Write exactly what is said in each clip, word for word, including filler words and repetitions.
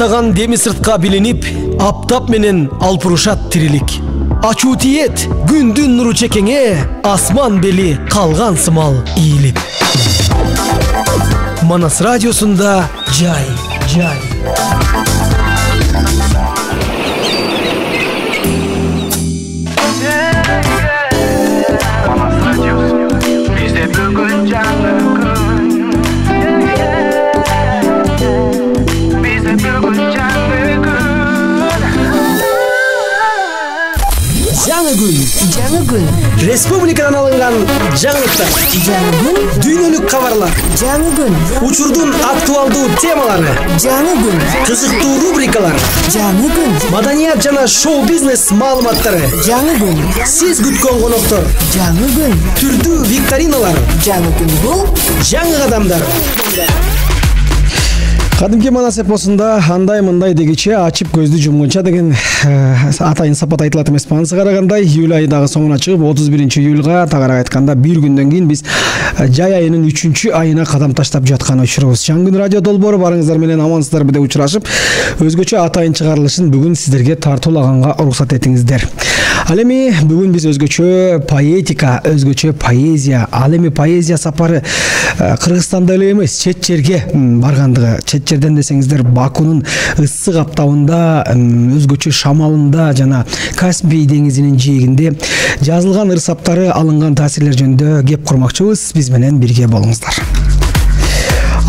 каттаган деми сыртка билинип, аптап менен алпурушат тирилик. Ачуу тиет күндүн нуру чекеңе, асман бели калган сымал ийилип. Манас радиосунда жай, жай. Жаңы күн, жаңы күн. Республикадан алынган жаңылыктар. Жаңы күн. Дүйнөлүк кабарлар. Жаңы күн. Учурдун актуалдуу темалары. Жаңы күн. Кызыктуу рубрикалар. Жаңы күн. Маданият жана шоу-бизнес маалыматтары. Жаңы күн. Сиз күткөн коноктор. Жаңы күн. Түрдүү викториналар. Жаңы күн бул жаңы кадамдар. Кадимки Манас эпосунда андай мындай дегиче ачып көздү жумгунча деген атайын сапат айтылат эмеспи. Анысы карагандай июль айдагы соңуна чыгып отуз биринчи июлга тагыраак айтканда бир күндөн кийин биз жай айынын үчүнчү айына кадам таштап жаткан учурубуз. Жаңы күн радио долбоору барыңыздар менен амансыздарбы деп учурашып, өзгөчө атайын чыгарылышын бүгүн сиздерге тартуулаганга уруксат этиңиздер. Ал эми бүгүн биз өзгөчө поэтика, өзгөчө поэзия, ал эми поэзия сапары Кыргызстанда эле эмес, чет жерге баргандыгы, чет жерден десеңиздер Бакунун ысык аптабында, өзгөчө шамалында жана Каспий деңизинин жээгинде жазылган ырсаптары алынган таасирлер жөнүндө кеп курмакчыбыз. Биз менен бирге болуңуздар.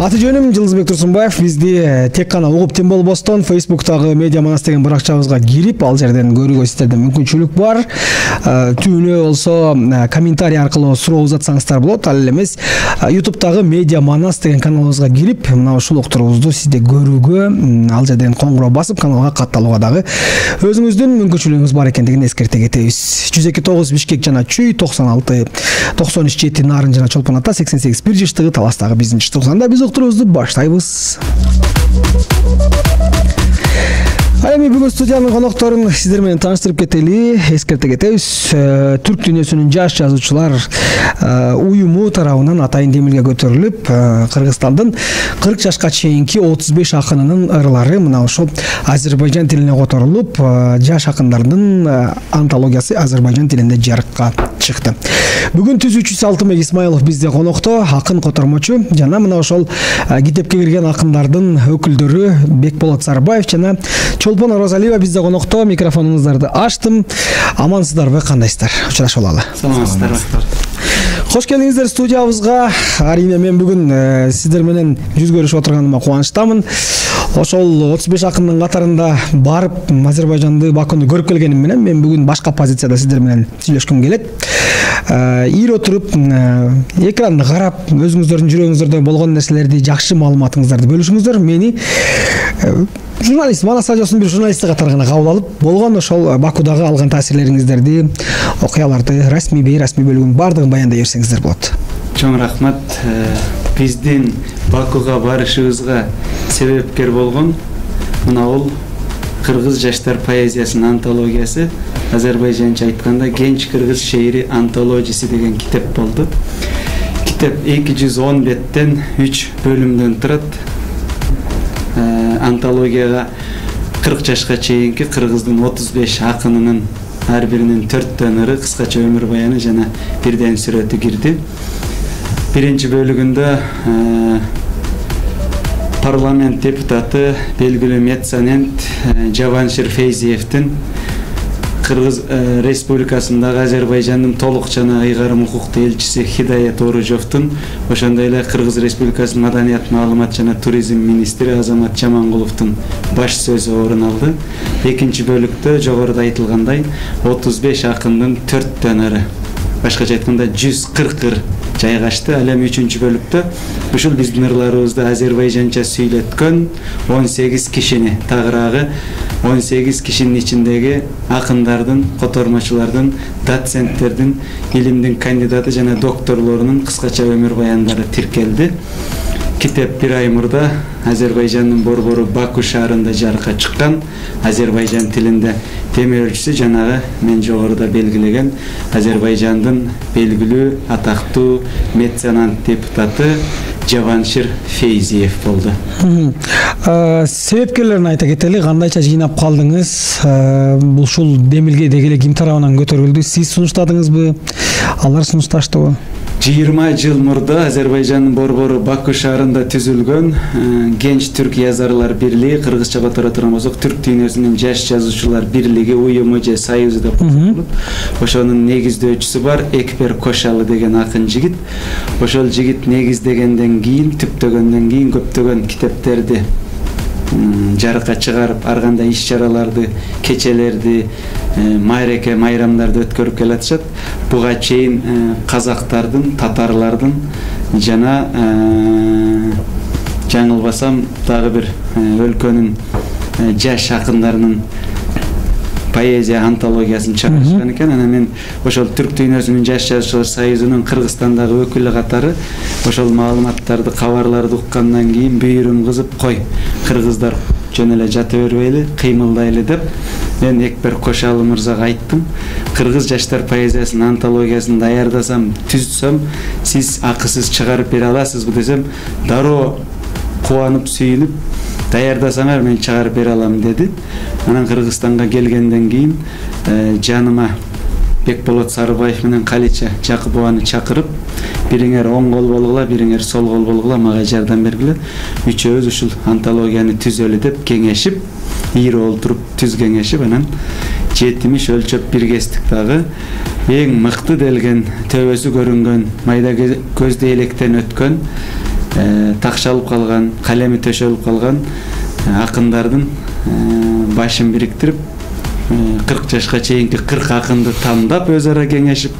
Аты жөнүм Жылдызбек Турсунбаев. Бизди тек гана угуп тим болбостон Facebook'тагы Медиа Манас деген баракчабызга кирип, ал жерден көрүүгө сиздерде мүмкүнчүлүк бар. Түнү болсо комментарий аркылуу суроо узатсаңыздар болот. Ал эмес YouTube'тагы Медиа Манас деген каналыбызга кирип, мына ушул уктурубузду сизде көрүүгө, ал жерден коңгуроо басып каналга катталууга дагы өзүңүздүн мүмкүнчүлүгүңүз бар экендигин эскерте кетебиз. жүз эки тогуз Бишкек жана Чүй, токсон алты токсон үч жети Нарын жана Чолпон ата, сексен сегиз бир жыштыгы Таластагы бизинчи студияда биз уктурубузду баштайбыз. Ал эми бүгүн студиянын конокторун сиздер менен тааныштырып кетели, эскерте кетебиз. Түрк дүйнөсүнүн жаш жазуучулар уюму тарабынан атайын демилге көтөрүлүп, Кыргызстандын кырк жашка чейинки отуз беш акынынын ырлары мына ошол Азербайжан тилине которулуп, жаш акындардын антологиясы Азербайжан тилинде жарыкка чыкты. Бүгүн түзүүчү Алтынбек Исмаилов бизде конокто, акын котормочу жана мына ошол китепке кирген акындардын өкүлдөрү Бекболот Сарбаев жана Чолпон Оразалиева бизде конокто. Микрофонуңуздарды ачтым. Амансыздарбы, кандайсыздар? Учурашып алалы. Саламатсыздарбы. Кош келиңиздер студиябызга. Арине мен бүгүн сиздер менен жүз көрүшүп отурганыма кубанычтамын. Ошол отуз беш акындын катарында барып Азербайжанды, Бакуну көрүп келгеним менен мен бүгүн башка позицияда сиздер менен сүйлөшкүм келет. Ир отуруп, экранды карап, өзүңүздөрдүн жүрөгүңүздөрдө болгон нерселерди, жакшы маалыматыңыздарды бөлүшүңүздөр. Мени журналист, Манас радиосунун бир журналисти катары гана кабыл алып, болгон ошол Бакудагы алган таасирлериңиздерди, окуяларды, расмий, бейрасмий бөлүгүн баардыгын баяндай берсеңиздер болот. Чоң рахмат. Биздин Бакуга барышыбызга себепкер болгон мына ол Кыргыз жаштар поэзиясынын антологиясы, азербайжанча айтканда Genç Kırgız Şeiri антологиясы деген китеп болду. Китеп эки жүз он беттен үч бөлүмдөн турат. Антологияга кырк жашка чейинки Кыргыздын отуз беш акынынын ар биринин төрттөн ыры, кыскача өмүр баяны жана бирден сүрөтү кирди. Биринчи бөлүгүндө парламент депутаты, белгилүү меценат Жаваншир Фейзиевдин Кыргыз Республикасындагы Азербайжандын толук жана ыйгарым укуктуу элчиси Хидаят Оружовдун, ошондой эле Кыргыз Республикасынын маданият, маалымат жана туризм министри Азамат Жамангуловдун баш сөзү орун алды. Экинчи бөлүктө жогоруда айтылгандай отуз беш акындын төрттөн ыры, башкача айтканда жүз кырк ыр жайгашты. Ал эми үчүнчү бөлүктө ушул биздин ырларыбызды азербайжанча сүйлөткөн он сегиз кишини, тагыраагы он сегиз кишинин ичиндеги акындардын, котормочулардын, доценттердин, илимдин кандидаты жана докторлорунун кыскача өмүр баяндары тиркелди. китеп бир ай мурда Азербайжандын борбору Баку шаарында жарыкка чыккан. Азербайжан тилинде темирөлчүсү жанагы мен жогоруда белгилеген Азербайжандын белгилүү атактуу меценат депутаты Жаваншир Фейзиев болду. Себепкерлерин айта кетели, кандайча жыйнап калдыңыз? Бул ушул демилге дегеле ким тарабынан көтөрүлдү? Сиз сунуштадыңызбы? Алар сунушташтыбы? жыйырма жыл мурда Азербайжандын борбору Баку шаарында түзүлгөн Genç Türk Yazarlar Birliği, кыргызча которо турган болсок түрк дүйнөсүнүн жаш жазуучулар бирлиги, уюму же союзу деп аталат. Ошонун негиздөөчүсү бар Экбер Кошалы деген акын жигит. Ошол жигит негиздегенден кийин, түптөгөндөн кийин көптөгөн китептерди жарыкка чыгарып, ар кандай иш-чараларды, кечелерди, майреке, майрамдарды өткөрүп келатышат. Буга чейин казактардын, татарлардын жана жаңылбасам дагы бир өлкөнүн жаш акындарынын поэзия антологиясын чыгарышкан экен. Анан мен ошол түрк дүйнөсүнүн жаш жазуучулар союзунун Кыргызстандагы өкүлү катары ошол маалыматтарды, кабарларды уккандан кийин бүйүрүм кызып, кой, кыргыздар жөн эле жата бербейли, кыймылдайлы деп мен Экбер Кошалы мырзага айттым. Кыргыз жаштар поэзиясынын антологиясын даярдасам, түзсөм, сиз акысыз чыгарып бере аласызбы десем, дароо кубанып, сүйүнүп, даярдасаңар мен чыгарып бере алам деди. Анан Кыргызстанга келгенден кийин жаныма Бекболот Сарыбаев менен Калича Жакыпованы чакырып, бириңер оң кол болгула, бириңер сол кол болгула, мага жардам бергиле. Үчөөбүз ушул антологияны түзөлү деп кеңешип, ийри олтуруп түз кеңешип, анан жетимиш өлчөп биргестик дагы эң мыкты делген, төбөсү көрүнгөн, майда көздө электен өткөн, такшалып калган, калеми төшөлүп калган акындардын башын бириктирип, кырк жашка чейинки кырк акынды тандап өз ара кеңешип,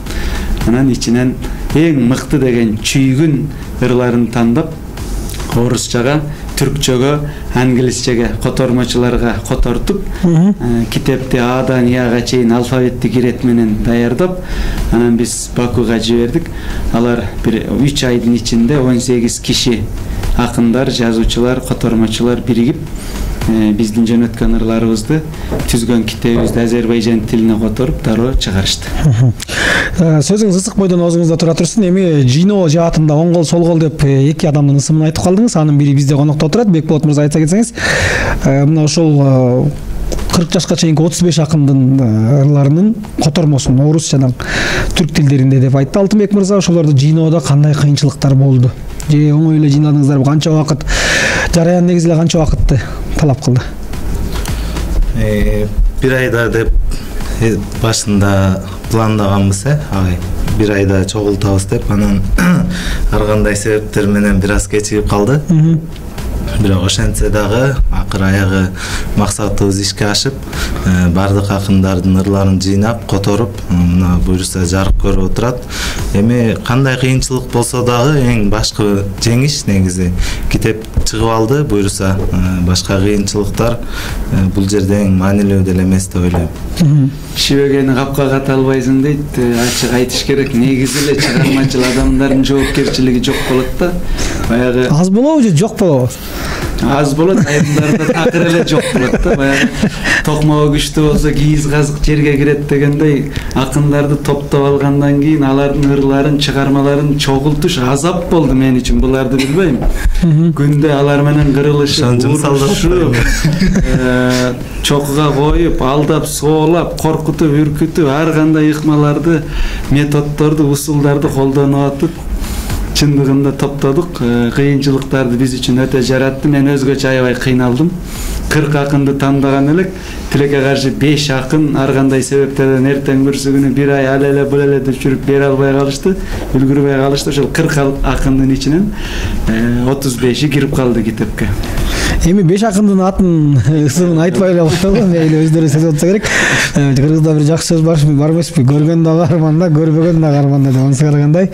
анан ичинен эң мыкты деген чүйгүн ырларын тандап, орусчага, түркчөгө, англисчеге, котормочуларга котортуп, китепти Адан Яга чейин алфавиттик ирет менен даярдап, анан биз Бакуга жибердик. Алар бир үч айдын ичинде он сегиз киши акындар, жазуучулар, котормочулар биригип, биздин жөнөткөн ырларыбызды, түзгөн китебибизди Азербайжан тилине которуп, дароо чыгарышты. Сөзүңүз ысык бойдон оозуңузда тура турсун. Эми жыйноо жаатында оң кол, сол кол деп эки адамдын ысымын айтып калдыңыз. Анын бири бизде конокто отурат. Бекболот мырза, айта кетсеңиз, мына ошол кырк жашка чейинки отуз беш акындын ырларынын котормосун орус жана түрк тилдеринде деп айтты Алтынбек мырза. Ошолорду жыйноодо кандай кыйынчылыктар болду? Же оңой эле жыйнадыңыздарбы? Канча убакыт, жараян негизи эле канча убакытты талап кылды? Бир айда деп башында пландаганбыз, агай. Бир айда чогултабыз деп, анан ар кандай себептер менен бир аз кечигип калды. Бирок ошентсе дагы акыр аягы максатыбыз ишке ашып, бардык акындардын ырларын жыйнап, которуп, мына буюрса жарык көрүп отурат. Эми кандай кыйынчылык болсо дагы эң башкы жеңиш негизи китеп чыгып алды. Буюрса башка кыйынчылыктар бул жерде эң маанилүү деле эмес деп ойлойм. Шибегени капка ката албайсың дейт. Ачык айтыш керек. Негизи эле чыгармачыл адамдардын жоопкерчилиги жок болот да. Баягы аз болобу же жок болобу? Аз болот, айымдарда такыр эле жок болот да. Баягы токмогу күчтүү болсо кийиз казык жерге кирет дегендей, акындарды топтоп алгандан кийин алардын ырларын, чыгармаларын чогултуш азап болду мен үчүн. Буларды билбейм. Күндө алар менен кырылышып, урушуп, чокуга коюп, алдап, соолап, коркутуп, үркүтүп, ар кандай ыкмаларды, методдорду, усулдарды колдонуп атып, чындыгында топтодук. Кыйынчылыктарды биз үчүн өтө жаратты. Мен өзгөчө аябай кыйналдым. кырк акынды тандаган элек, тилекке каршы беш акын ар кандай себептерден эртең бүрсүгүнү бир ай ал эле бул эле деп жүрүп бере албай калышты, үлгүрбөй калышты. Ошол кырк акындын ичинен отуз беши кирип калды китепке. Эми беш акындын атын ысымын айтпай эле коелу, мейли өздөрү сөз айтса керек. Кыргызда бир жакшы сөз бар эмеспи? Көргөн дагы арманда, көрбөгөн дагы арманда деп. Анысы карагандай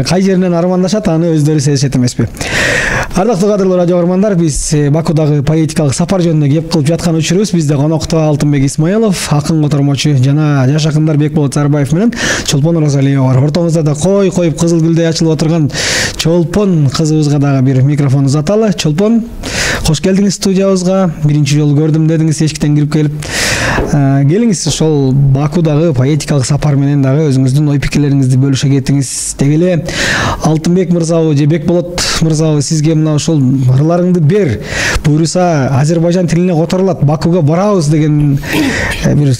кай жеринен армандашат, аны өздөрү сезишет эмеспи? Ардактуу кадырлуу радио көрөрмандар, биз Бакудагы поэтикалык сапар жөнүндө кеп кылып жаткан учурубуз. Бизде конокто Алтынбек Исмаилов, акын котормочу жана жаш акындар Бекболот Сарбаев менен Чолпон Оразалиева бар. Ортомузда да кой коюп кызыл гүлдөй ачылып отурган Чолпон кызыбызга дагы бир микрофон узаталы. Чолпон, кош келдиңиз студиябызга. Биринчи жолу көрдүм дедиңиз, эшиктен кирип келип. Келиңиз, ошол Бакудагы поэтикалык сапар менен дагы өзүңүздүн ой пикирлериңизди бөлүшө кетиңиз. Деги эле Алтынбек мырзабы же Бекболот мырзабы, сизге мына ошол ырларыңды бер. Буюрса Азербайжан тилине которулат, Бакуга барабыз деген бир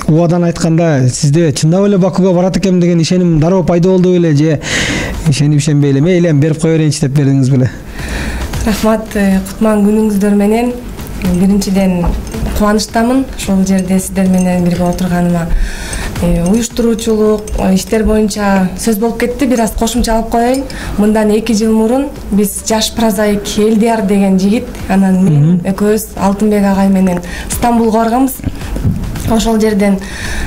убадан айтканда, сизде чындап эле Бакуга барат экем деген ишеним дароо пайда болду беле, же ишенип ишенбей эле мейли эми берип кое берейинчи деп бердиңиз беле? Рахмат, кутман күнүңүздөр менен. Биринчиден кубанычтамын ошол жерде сиздер менен бирге отурганыма. Уюштуруучулук иштер боюнча сөз болуп кетти, бир аз кошумча алып коеюн. Мындан эки жыл мурун биз жаш прозаик Элдияр деген жигит, анан мен экөөбүз Алтынбек агай менен Стамбулга барганбыз. Ошол жерден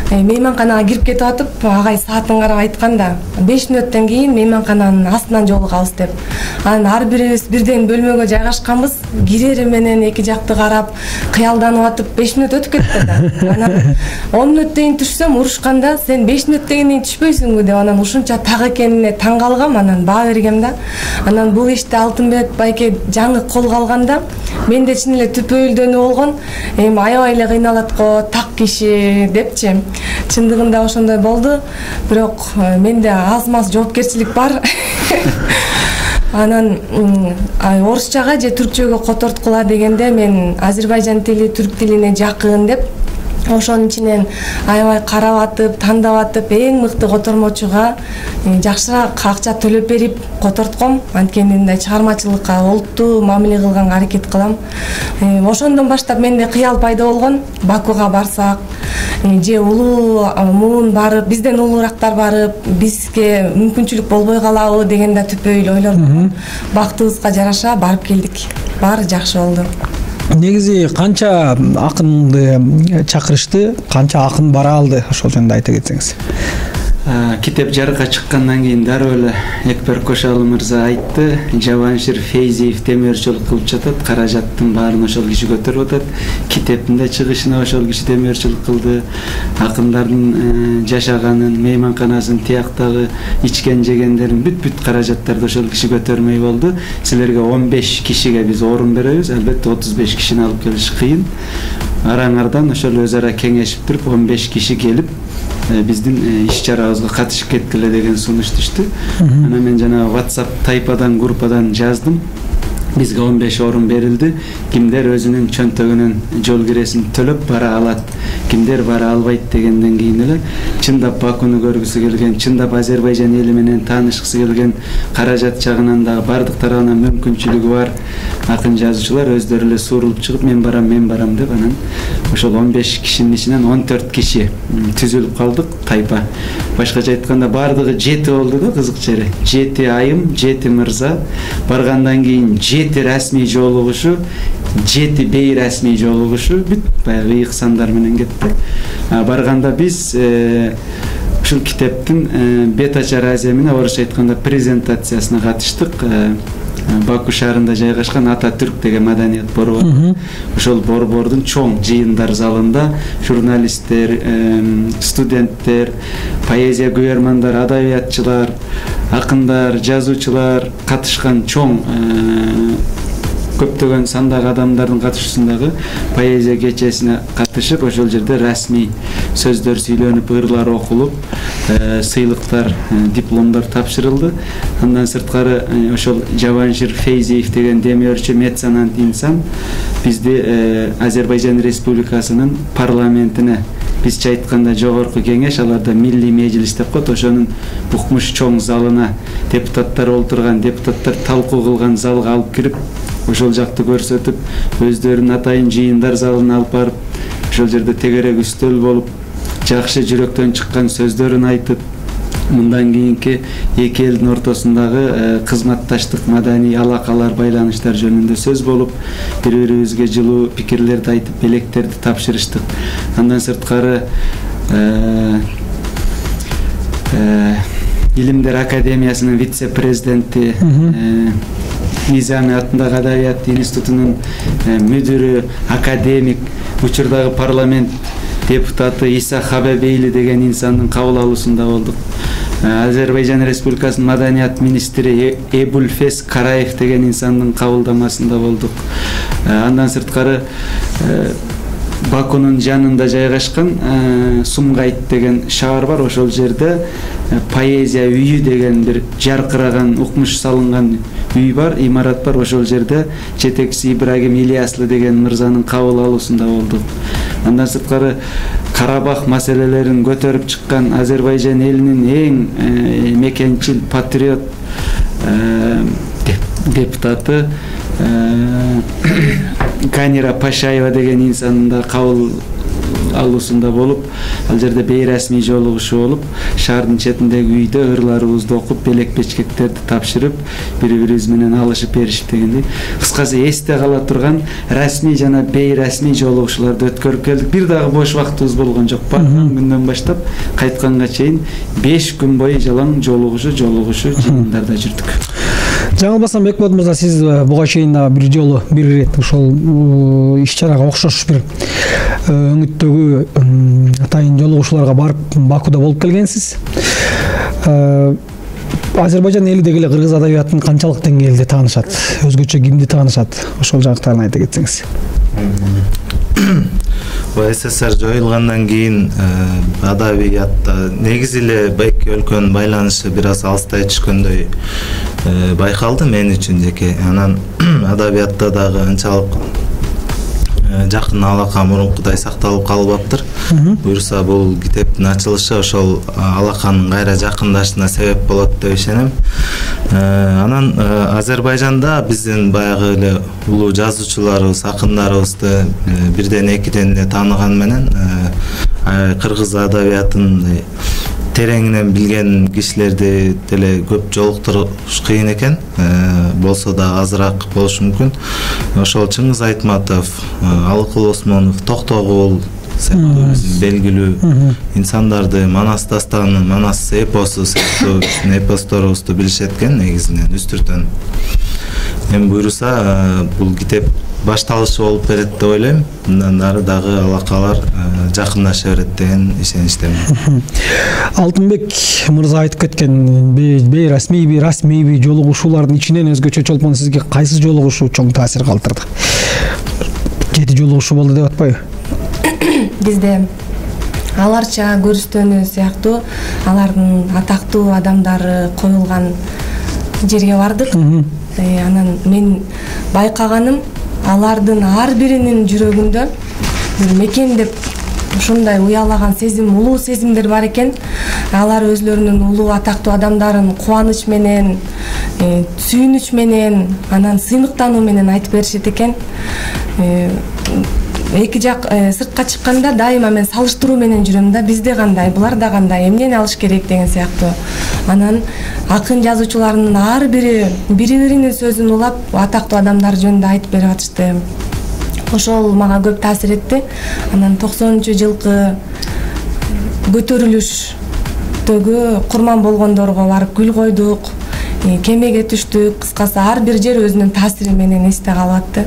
мейманканага кирип кетип атып, агай саатын карап айтканда, беш мүнөттөн кийин мейманкананын астынан жолугабыз деп. Анан ар бирибиз бирден бөлмөгө жайгашканбыз. Кирери менен эки жакты карап, кыялданып атып, беш мүнөт өтүп кетти да. Анан он мүнөттөн түшсөм, урушканда сен беш мүнөттөн түшпөйсүңбү деп, анан ушунча так экенине таң калгам, анан баа бергем да. Анан бул ишти Алтынбек байке жаңы колго алганда, менде чын эле түпөйүлдөнүү болгон. Эми аябай эле кыйналат го, так киши депчи. Чындыгында ошондой болду. Бирок менде аз-маз жоопкерчилик бар. Анан орусчага же түркчөгө которткула дегенде мен Азербайжан тили, түрк тилине жакын деп ошонун ичинен аябай карап атып, тандап атып, эң мыкты котормочуга жакшыраак акча төлөп берип котортком. Анткени мындай чыгармачылыкка олуттуу мамиле кылганга аракет кылам. Ошондон баштап менде кыял пайда болгон. Бакуга барсак, же улуу муун барып, бизден улуурактар барып, бизге мүмкүнчүлүк болбой калабы деген да түпөйүл ойлор. Бактыбызга жараша барып келдик. Баары жакшы болду. Негизи канча акынды чакырышты, канча акын бара алды, ошол жөнүндө айта кетсеңиз. Китеп жарыкка чыккандан кийин дароо эле Экбер Кошалы мырза айтты, Жабаншир Фейзиев темирчилик кылып жатат, каражаттын баарын ошол киши көтөрүп атат. Китептин да чыгышына ошол киши темирчилик кылды. Акындардын жашаганын, мейманканасын, тияктагы ичкен жегендерин бүт-бүт каражаттарды ошол киши көтөрмөй болду. Силерге он беш кишиге биз орун беребиз, албетте отуз беш кишини алып келиш кыйын. Араңардан ошол өз ара кеңешип туруп он беш киши келип биздин иш чарабызга катышып кеткиле деген сунуш түштү. Анан мен жана WhatsApp тайпадан, группадан жаздым. Бизге он беш орун берилди. Кимдер өзүнүн чөнтөгүнүн жол киресин төлөп бара алат, кимдер бара албайт дегенден кийин эле чындап Бакуну көргүсү келген, чындап Азербайжан эли менен таанышкысы келген, каражат жагынан дагы бардык тарабынан мүмкүнчүлүгү бар акын жазуучулар өздөрү эле суурулуп чыгып, мен барам, мен барам деп, анан ошол он беш кишинин ичинен он төрт киши түзүлүп калдык, тайпа. Башкача айтканда бардыгы жети болду да, кызык жери. жети айым, жети мырза. Баргандан кийин жети расмий жолугушу, жети бейрасмий жолугушу, бүт баягы ыйык сандар менен кетти. Барганда биз ушул китептин бет ачар аземине, орусча айтканда презентациясына катыштык. Баку шаарында жайгашкан Ататүрк деген маданият борбору. Ошол борбордун чоң жыйындар залында журналисттер, студенттер, поэзия күйөрмандар, адабиятчылар, акындар, жазуучулар катышкан чоң көптөгөн сандагы адамдардын катышуусундагы поэзия кечесине катышып, ошол жерде расмий сөздөр сүйлөнүп, ырлар окулуп, сыйлыктар, дипломдор тапшырылды. Андан сырткары ошол Жабаншир Фейзиев деген демиөрчү меценат инсан бизди Азербайжан Республикасынын парламентине, бизче айтканда жогорку кеңеш, аларда милли мejlis деп коет, ошонун укмуш чоң залына, депутаттар олтурган, депутаттар талкуу кылган залга алып кирип, ошол жакты көрсөтүп, өздөрүнүн атайын жыйындар залына алып барып, ошол жерде тегерек үстөл болуп, жакшы жүрөктөн чыккан сөздөрүн айтып, мындан кийинки эки элдин ортосундагы кызматташтык, маданий алакалар, байланыштар жөнүндө сөз болуп, бири бирибизге жылуу пикирлерди айтып, белектерди тапшырыштык. Андан сырткары Илимдер академиясынын вице-президенти, Низами атындагы Адабият институтунун мүдүрү, академик, учурдагы парламент депутаты Иса Хабабейли деген инсандын кабыл алуусунда болдук. Азербайжан Республикасынын маданият министри Эбулфес Караев деген инсандын кабылдамасында болдук. Андан сырткары Бакунун жанында жайгашкан Сумгайт деген шаар бар. Ошол жерде поэзия үйү деген бир жаркыраган, укмуш салынган үй бар, имарат бар. Ошол жерде жетекчиси Ибрагим Ильяслы деген мырзанын кабыл алуусунда болдук. Андан сырткары Карабах маселелерин көтөрүп чыккан Азербайжан элинин эң мекенчил патриот депутаты Канира Пашаева деген инсандын да кабыл алуусунда болуп, ал жерде бейрасмий жолугушуу болуп, шаардын четиндеги үйдө ырларыбызды окуп, белек бечкектерди тапшырып, бири-бирибиз менен алышып беришип дегендей. Кыскасы эсте кала турган расмий жана бейрасмий жолугушууларды өткөрүп келдик. Бир дагы бош вактыбыз болгон жок. Барган күндөн баштап кайтканга чейин беш күн бою жалаң жолугушуу, жолугушуу жыйындарда жүрдүк. Жаңылбасам Бекболот мырза, сиз буга чейин дагы бир жолу бир ирет ошол иш-чарага окшош бир өңүттөгү атайын жолугушууларга барып Бакуда болуп келгенсиз. Азербайжан эли деги эле кыргыз адабиятын канчалык деңгээлде таанышат, өзгөчө кимди таанышат, ошол жактарын айта кетсеңиз. СССР жоюлгандан кийин адабиятта негизи эле эки өлкөнүн байланышы бир аз алыстай түшкөндөй байкалды мен үчүн жеке. Анан адабиятта дагы анчалык жакын алака мурункудай сакталып калбаптыр. Буюрса бул китептин ачылышы ошол алаканын кайра жакындашына себеп болот деп ишенем. Анан Азербайжанда биздин баягы эле улуу жазуучуларыбыз, акындарыбызды бирден экиден эле тааныган менен кыргыз адабиятын тереңинен билген кишилерди деле көп жолуктуруш кыйын экен. Болсо да азыраак болушу мүмкүн. Ошол Чыңгыз Айтматов, Алыкул Осмонов, Токтогул сыяктуу белгилүү инсандарды, Манас дастаны, Манас эпосу сыяктуу эпосторубузду билишет экен негизинен үстүртөн. Эми буюрса бул китеп башталышы болуп берет деп ойлойм. Мындан ары дагы алакалар жакындаша берет деген ишеничтемин. Алтынбек мырза айтып кеткен бейрасмийби, расмийби жолугушуулардын ичинен өзгөчө чолпон сизге кайсы жолугушуу чоң таасир калтырды? Жети жолугушуу болду деп атпайбы? Бизде аларча көрүстөнү сыяктуу алардын атактуу адамдары коюлган жерге бардык. Анан мен байкаганым, алардын ар биринин жүрөгүндө бир мекендеп ушундай уялаган сезим, улуу сезимдер бар экен. Алар өзлөрүнүн улуу атактуу адамдарын кубаныч менен, сүйүнүч менен, анан сыймыктануу менен айтып беришет экен. Эки жак сыртка чыкканда дайыма мен салыштыруу менен жүрөм да, бизде кандай, буларда кандай, эмнени алыш керек деген сыяктуу. Анан акын жазуучуларынын ар бири бири-биринин сөзүн улап, атактуу адамдар жөнүндө айтып берип атышты. Ошол мага көп таасир этти. Анан токсонунчу жылкы көтөрүлүштөгү курман болгондорго барып гүл койдук, кемеге түштүк. Кыскасы ар бир жер өзүнүн таасири менен эсте калып атты.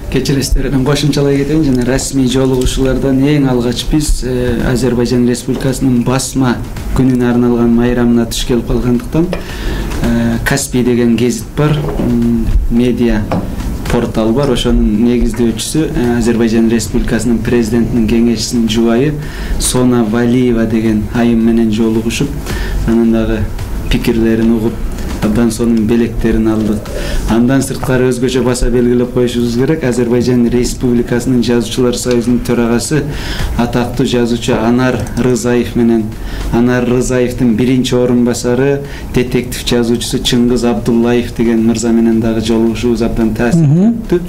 Кечиресиздер, мен кошумчалай кетейин. Жана расмий жолугушуулардан эң алгач биз Азербайжан Республикасынын басма күнүнө арналган майрамына туш келип калгандыктан Каспий деген гезит бар, медиа портал бар. Ошонун негиздөөчүсү Азербайжан Республикасынын президентинин кеңешчисинин жубайы Сона Валиева деген айым менен жолугушуп, анын дагы пикирлерин угуп, абдан сонун белектерин алдык. Андан сырткары өзгөчө баса белгилеп коюшубуз керек, Азербайжан Республикасынын жазуучулар союзунун төрагасы атактуу жазуучу Анар Рызаев менен Анар Рызаевдин биринчи орун басары детектив жазуучусу Чыңгыз Абдуллаев деген мырза менен дагы жолугушуубуз абдан таасирттүү.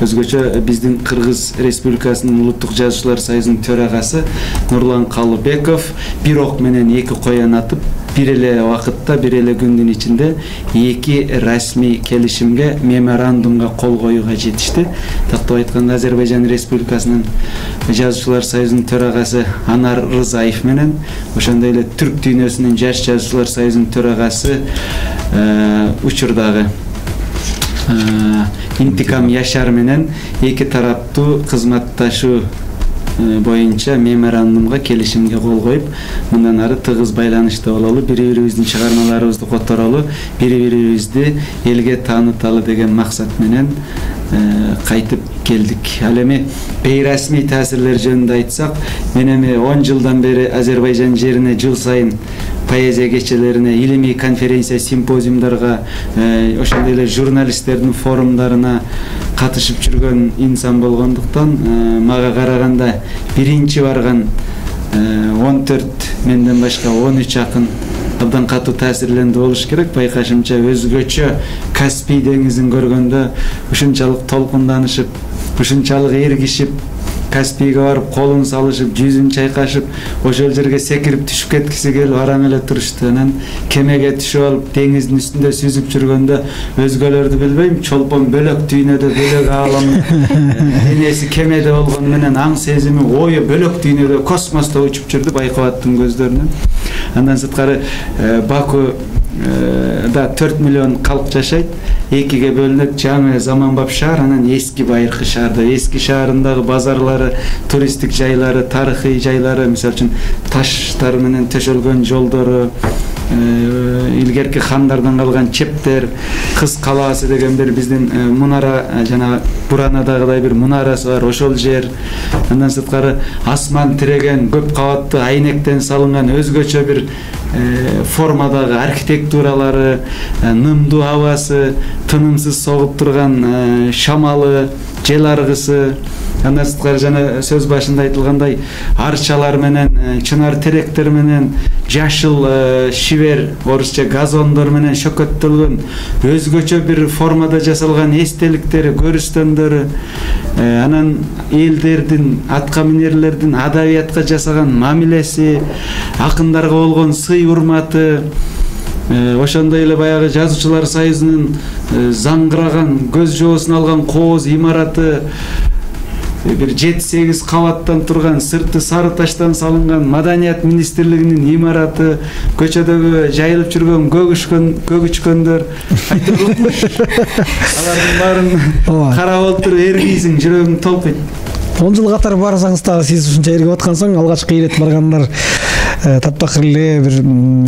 Өзгөчө биздин Кыргыз Республикасынын улуттук жазуучулар союзунун төрагасы Нурлан Калыбеков бир ок менен эки коян атып, бир эле убакытта, бир эле күндүн ичинде эки расмий келишимге, меморандумга кол коюуга жетишти. Тактап айтканда Азербайжан Республикасынын Жазуучулар союзунун төрагасы Анар Рызаев менен, ошондой эле Түрк дүйнөсүнүн Жаш жазуучулар союзунун төрагасы учурдагы Интикам Яшар менен эки тараптуу кызматташуу боюнча меморандумга, келишимге кол коюп, мындан ары тыгыз байланышта бололу, бири-бирибиздин чыгармаларыбызды которолу, бири-бирибизди элге тааныталы деген максат менен кайтып келдик. Ал эми бейрасмий таасирлер жөнүндө айтсак, мен эми он жылдан бери Азербайжан жерине жыл сайын поэзия кечелерине, илимий конференция, симпозиумдарга, ошондой эле журналисттердин форумдарына катышып жүргөн инсан болгондуктан, мага караганда биринчи барган он төрт, менден башка он үч акын абдан катуу таасирлендүү болуш керек. Байкашымча өзгөчө Каспий деңизин көргөндө ушунчалык толкунданышып, ушунчалык эргишип, Каспийге барып колун салышып, жүзүн чайкашып, ошол жерге секирип түшүп кеткиси келип араң эле турушту. Анан кемеге түшүп алып деңиздин үстүндө сүзүп жүргөндө өзгөлөрдү билбейм, чолпон бөлөк дүйнөдө, бөлөк ааламда, денеси кемеде болгону менен аң сезими, ою бөлөк дүйнөдө, космосто учуп жүрдү Байкубаттын көздөрүнөн. Андан сырткары Баку да төрт миллион калк жашайт, экиге бөлүнөт, жаңы заманбап шаар, анан эски байыркы шаарда. Эски шаарындагы базарлары, туристтик жайлары, тарыхый жайлары, мисалы үчүн таштар менен төшөлгөн жолдору, илгерки хандардан калган чептер, Кыз калаасы деген бир биздин мунара, жана Буранадагыдай бир мунарасы бар, ошол жер. Андан сырткары асман тиреген, көп кабаттуу айнектен салынган өзгөчө бир формадагы архитектуралары, нымдуу абасы, тынымсыз согуп турган шамалы, жел аргысы. Андан сырткары жана сөз башында айтылгандай арчалар менен, чынар теректер менен, жашыл шибер, орусча газондор менен шөкөттөлгөн өзгөчө бир формада жасалган эстеликтери, көрүстөндөрү, анан элдердин, атка минерлердин адабиятка жасаган мамилеси, акындарга болгон сый урматы, ошондой эле баягы Жазуучулар союзунун заңгыраган, көз жоосун алган кооз имараты, бир жети сегиз кабаттан турган, сырты сары таштан салынган Маданият министрлигинин имараты, көчөдөгү жайылып жүргөн көгүшкөн көгүчкөндөр, алардын баарын карап отуруп эргийсиң, жүрөгүң толкуйт. он жыл катары барсаңыз дагы сиз ушунча эргип аткан соң, алгачкы ирет баргандар таптакыр эле бир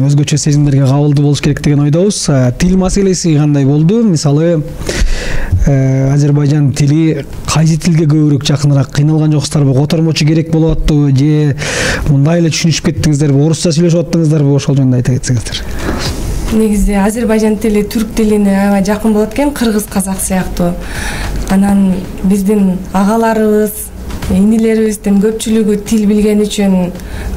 өзгөчө сезимдерге кабылдуу болуш керек деген ойдобуз. Тил маселеси кандай болду? Мисалы Азербайжан тили кайсы тилге көбүрөөк жакыныраак? Кыйналган жоксуздарбы? Котормочу керек болуп аттыбы же мындай эле түшүнүшүп кеттиңиздерби? Орусча сүйлөшүп аттыңыздарбы? Ошол жөнүндө айта кетсеңиздер. Негизи Азербайжан тили түрк тилине аябай жакын болот экен, кыргыз казак сыяктуу. Анан биздин агаларыбыз, инилерибиздин көпчүлүгү тил билген үчүн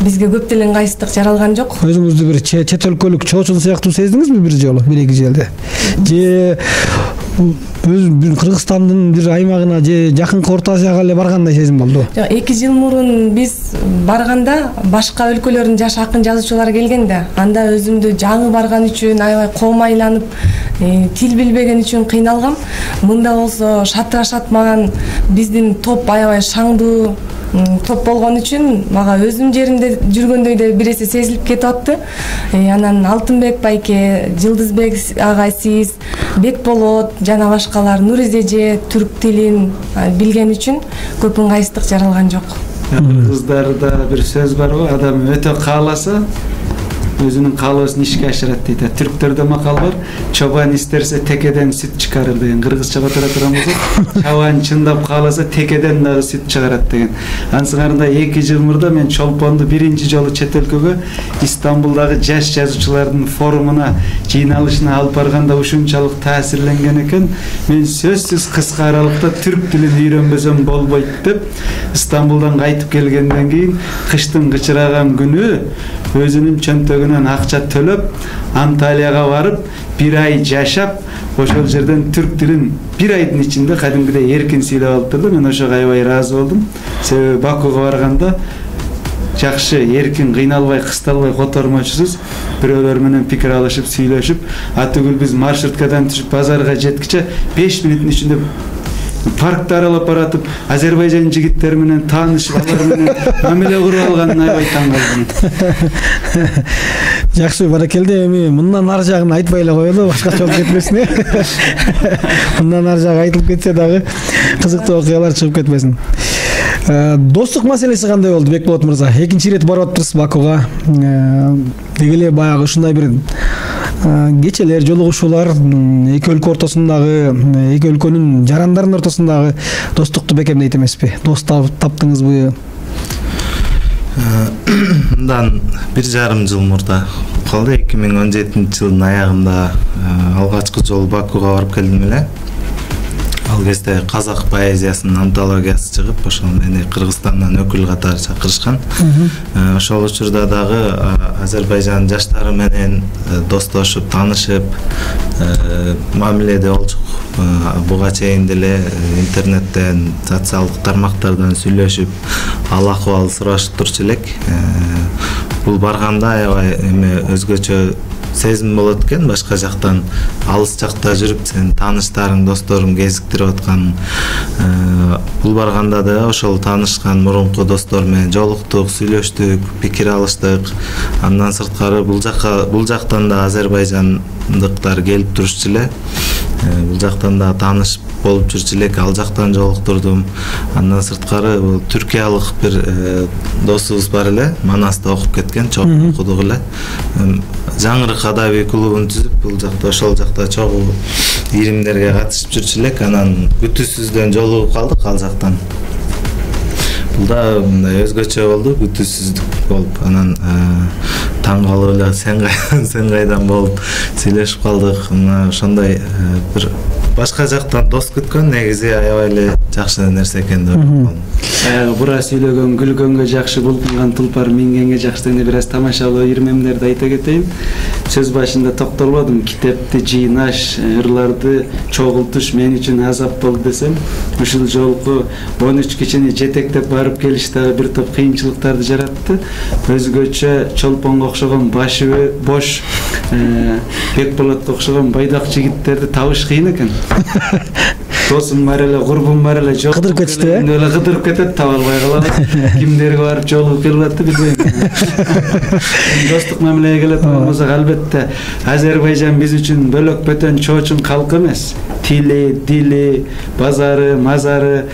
бизге көп деле ыңгайсыздык жаралган жок. Өзүңүздү бир чет өлкөлүк чоочун сыяктуу сездиңизби бир жолу, бир эки жерде? Же өз Кыргызстандын бир аймагына же жакынкы Орто Азияга эле баргандай сезим болду? Жок, эки жыл мурун биз барганда башка өлкөлөрдүн жаш акын жазуучулары келген да, анда өзүмдү жаңы барган үчүн аябай коомайланып, тил билбеген үчүн кыйналгам. Мында болсо шатырашат, маган биздин топ аябай шаңдуу топ болгон үчүн мага өзүм жеримде жүргөндөй да бир эсе сезилип кетип атты. Анан Алтынбек байке, Жылдызбек агай, сиз, Бекболот жана башкалар Нуризе түрк тилин билген үчүн көп ыңгайсыздык жаралган жок. Кыргыздарда бир сөз бар го, адам өтө кааласа өзүнүн каалоосун ишке ашырат дейт. Түрктөрдө макал бар, чобан истерсе текеден сүт чыгарыр деген. Кыргызча батыра турган болсок, чабан чындап кааласа текеден дагы сүт чыгарат деген. Ансыңарында эки жыл мурда мен чолпонду биринчи жолу чет өлкөгө Истамбулдагы жаш жазуучулардын форумуна жыйналышына алып барганда ушунчалык таасирленген экен. Мен сөзсүз кыска аралыкта түрк тилин үйрөнбөсөм болбойт деп Истамбулдан кайтып келгенден кийин кыштын кычыраган күнү өзүнүн чөнтөгүнөн акча төлөп Анталияга барып бир ай жашап, ошол жерден түрк тилин бир айдын ичинде кадимгидей эркин сүйлөп алыптыр да. Мен ошого аябай ыраазы болдум. Себеби Бакуга барганда жакшы эркин кыйналбай кысталбай котормочусуз. Бирөөлөр менен пикир алышып сүйлөшүп, атүгүл биз маршруткадан түшүп базарга жеткиче беш мүнөттүн ичинде паркты аралап баратып, Азербайжан жигиттери менен таанышып, алар менен мамиле куруп алганын аябай таң калдым. Жакшы, баракелде. Эми мындан ар жагын айтпай эле коелу, башкача болуп кетпесин. Мындан ар жагы айтылып кетсе дагы кызыктуу окуялар чыгып кетпесин. Достук маселеси кандай болду, Бекболот мырза? Экинчи ирет барып атыптырсыз Бакуга. Деги эле баягы ушундай бир кечелер, жолугушуулар эки өлкө ортосундагы, эки өлкөнүн жарандарынын ортосундагы достукту бекемдейт эмеспи? Дос таптыңызбы? Мындан бир жарым жыл мурда калды. эки миң он жетинчи жылдын аягында алгачкы жолу Бакуга барып келдим эле. Ал кезде казак поэзиясынын антологиясы чыгып, ошол мени Кыргызстандан өкүл катары чакырышкан. Ошол учурда дагы Азербайжан жаштары менен достошуп, таанышып, мамиледе болчук. Буга чейин деле интернеттен, социалдык тармактардан сүйлөшүп, ал акыбал сурашып турчу элек. Бул барганда аябай эме өзгөчө сезим болот экен, башка жактан алыс жакта жүрүп сен тааныштарың, досторуң кезиктирип аткан. Бул барганда да ошол таанышкан мурунку достор менен жолуктук, сүйлөштүк, пикир алыштык. Андан сырткары бул жакка бул жактан да азербайжандыктар келип турушчу эле. Бул жактан да таанышып болуп жүрчү элек, ал жактан жолуктурдум. Андан сырткары бул түркиялык бир досубуз бар эле, Манаста окуп кеткен, чогуу окудук эле. Жаңырык адаби клубун түзүп, бул жакта ошол жакта чогуу ийримдерге катышып жүрчү элек. Анан күтүүсүздөн жолугуп калдык ал жактан. Бул да мындай өзгөчө болду, күтүүсүздүк болуп. Анан таң калып эле сен кайдан, сен кайдан болуп сүйлөшүп калдык. Мына ошондой бир башка жактан дос күткөн негизи аябай эле жакшы нерсе экен деп ойлойм. Баягы бура сүйлөгөн, күлгөнгө жакшы, булкунган тулпар мингенге жакшы дегенде бир аз тамашалуу ирмемдерди айта кетейин. Сөз башында токтолбодум. Китепти жыйнаш, ырларды чогултуш мен үчүн азап болду десем, ушул жолку он үч кишини жетектеп барып келиш дагы бир топ кыйынчылыктарды жаратты. Өзгөчө Чолпонго окшогон башы бош, Бекболотко окшогон байдак жигиттерди табыш кыйын экен. Досум бар эле, курбум бар эле, жок. Кыдырып кетти э? Эле кыдырып кетет, таба албай калат. Кимдерге барып жолугуп келип атты билбейм. Достук мамилеге келет болсок, албетте Азербайжан биз үчүн бөлөк бөтөн чоочун калк эмес. Тили, дили, базары, мазары,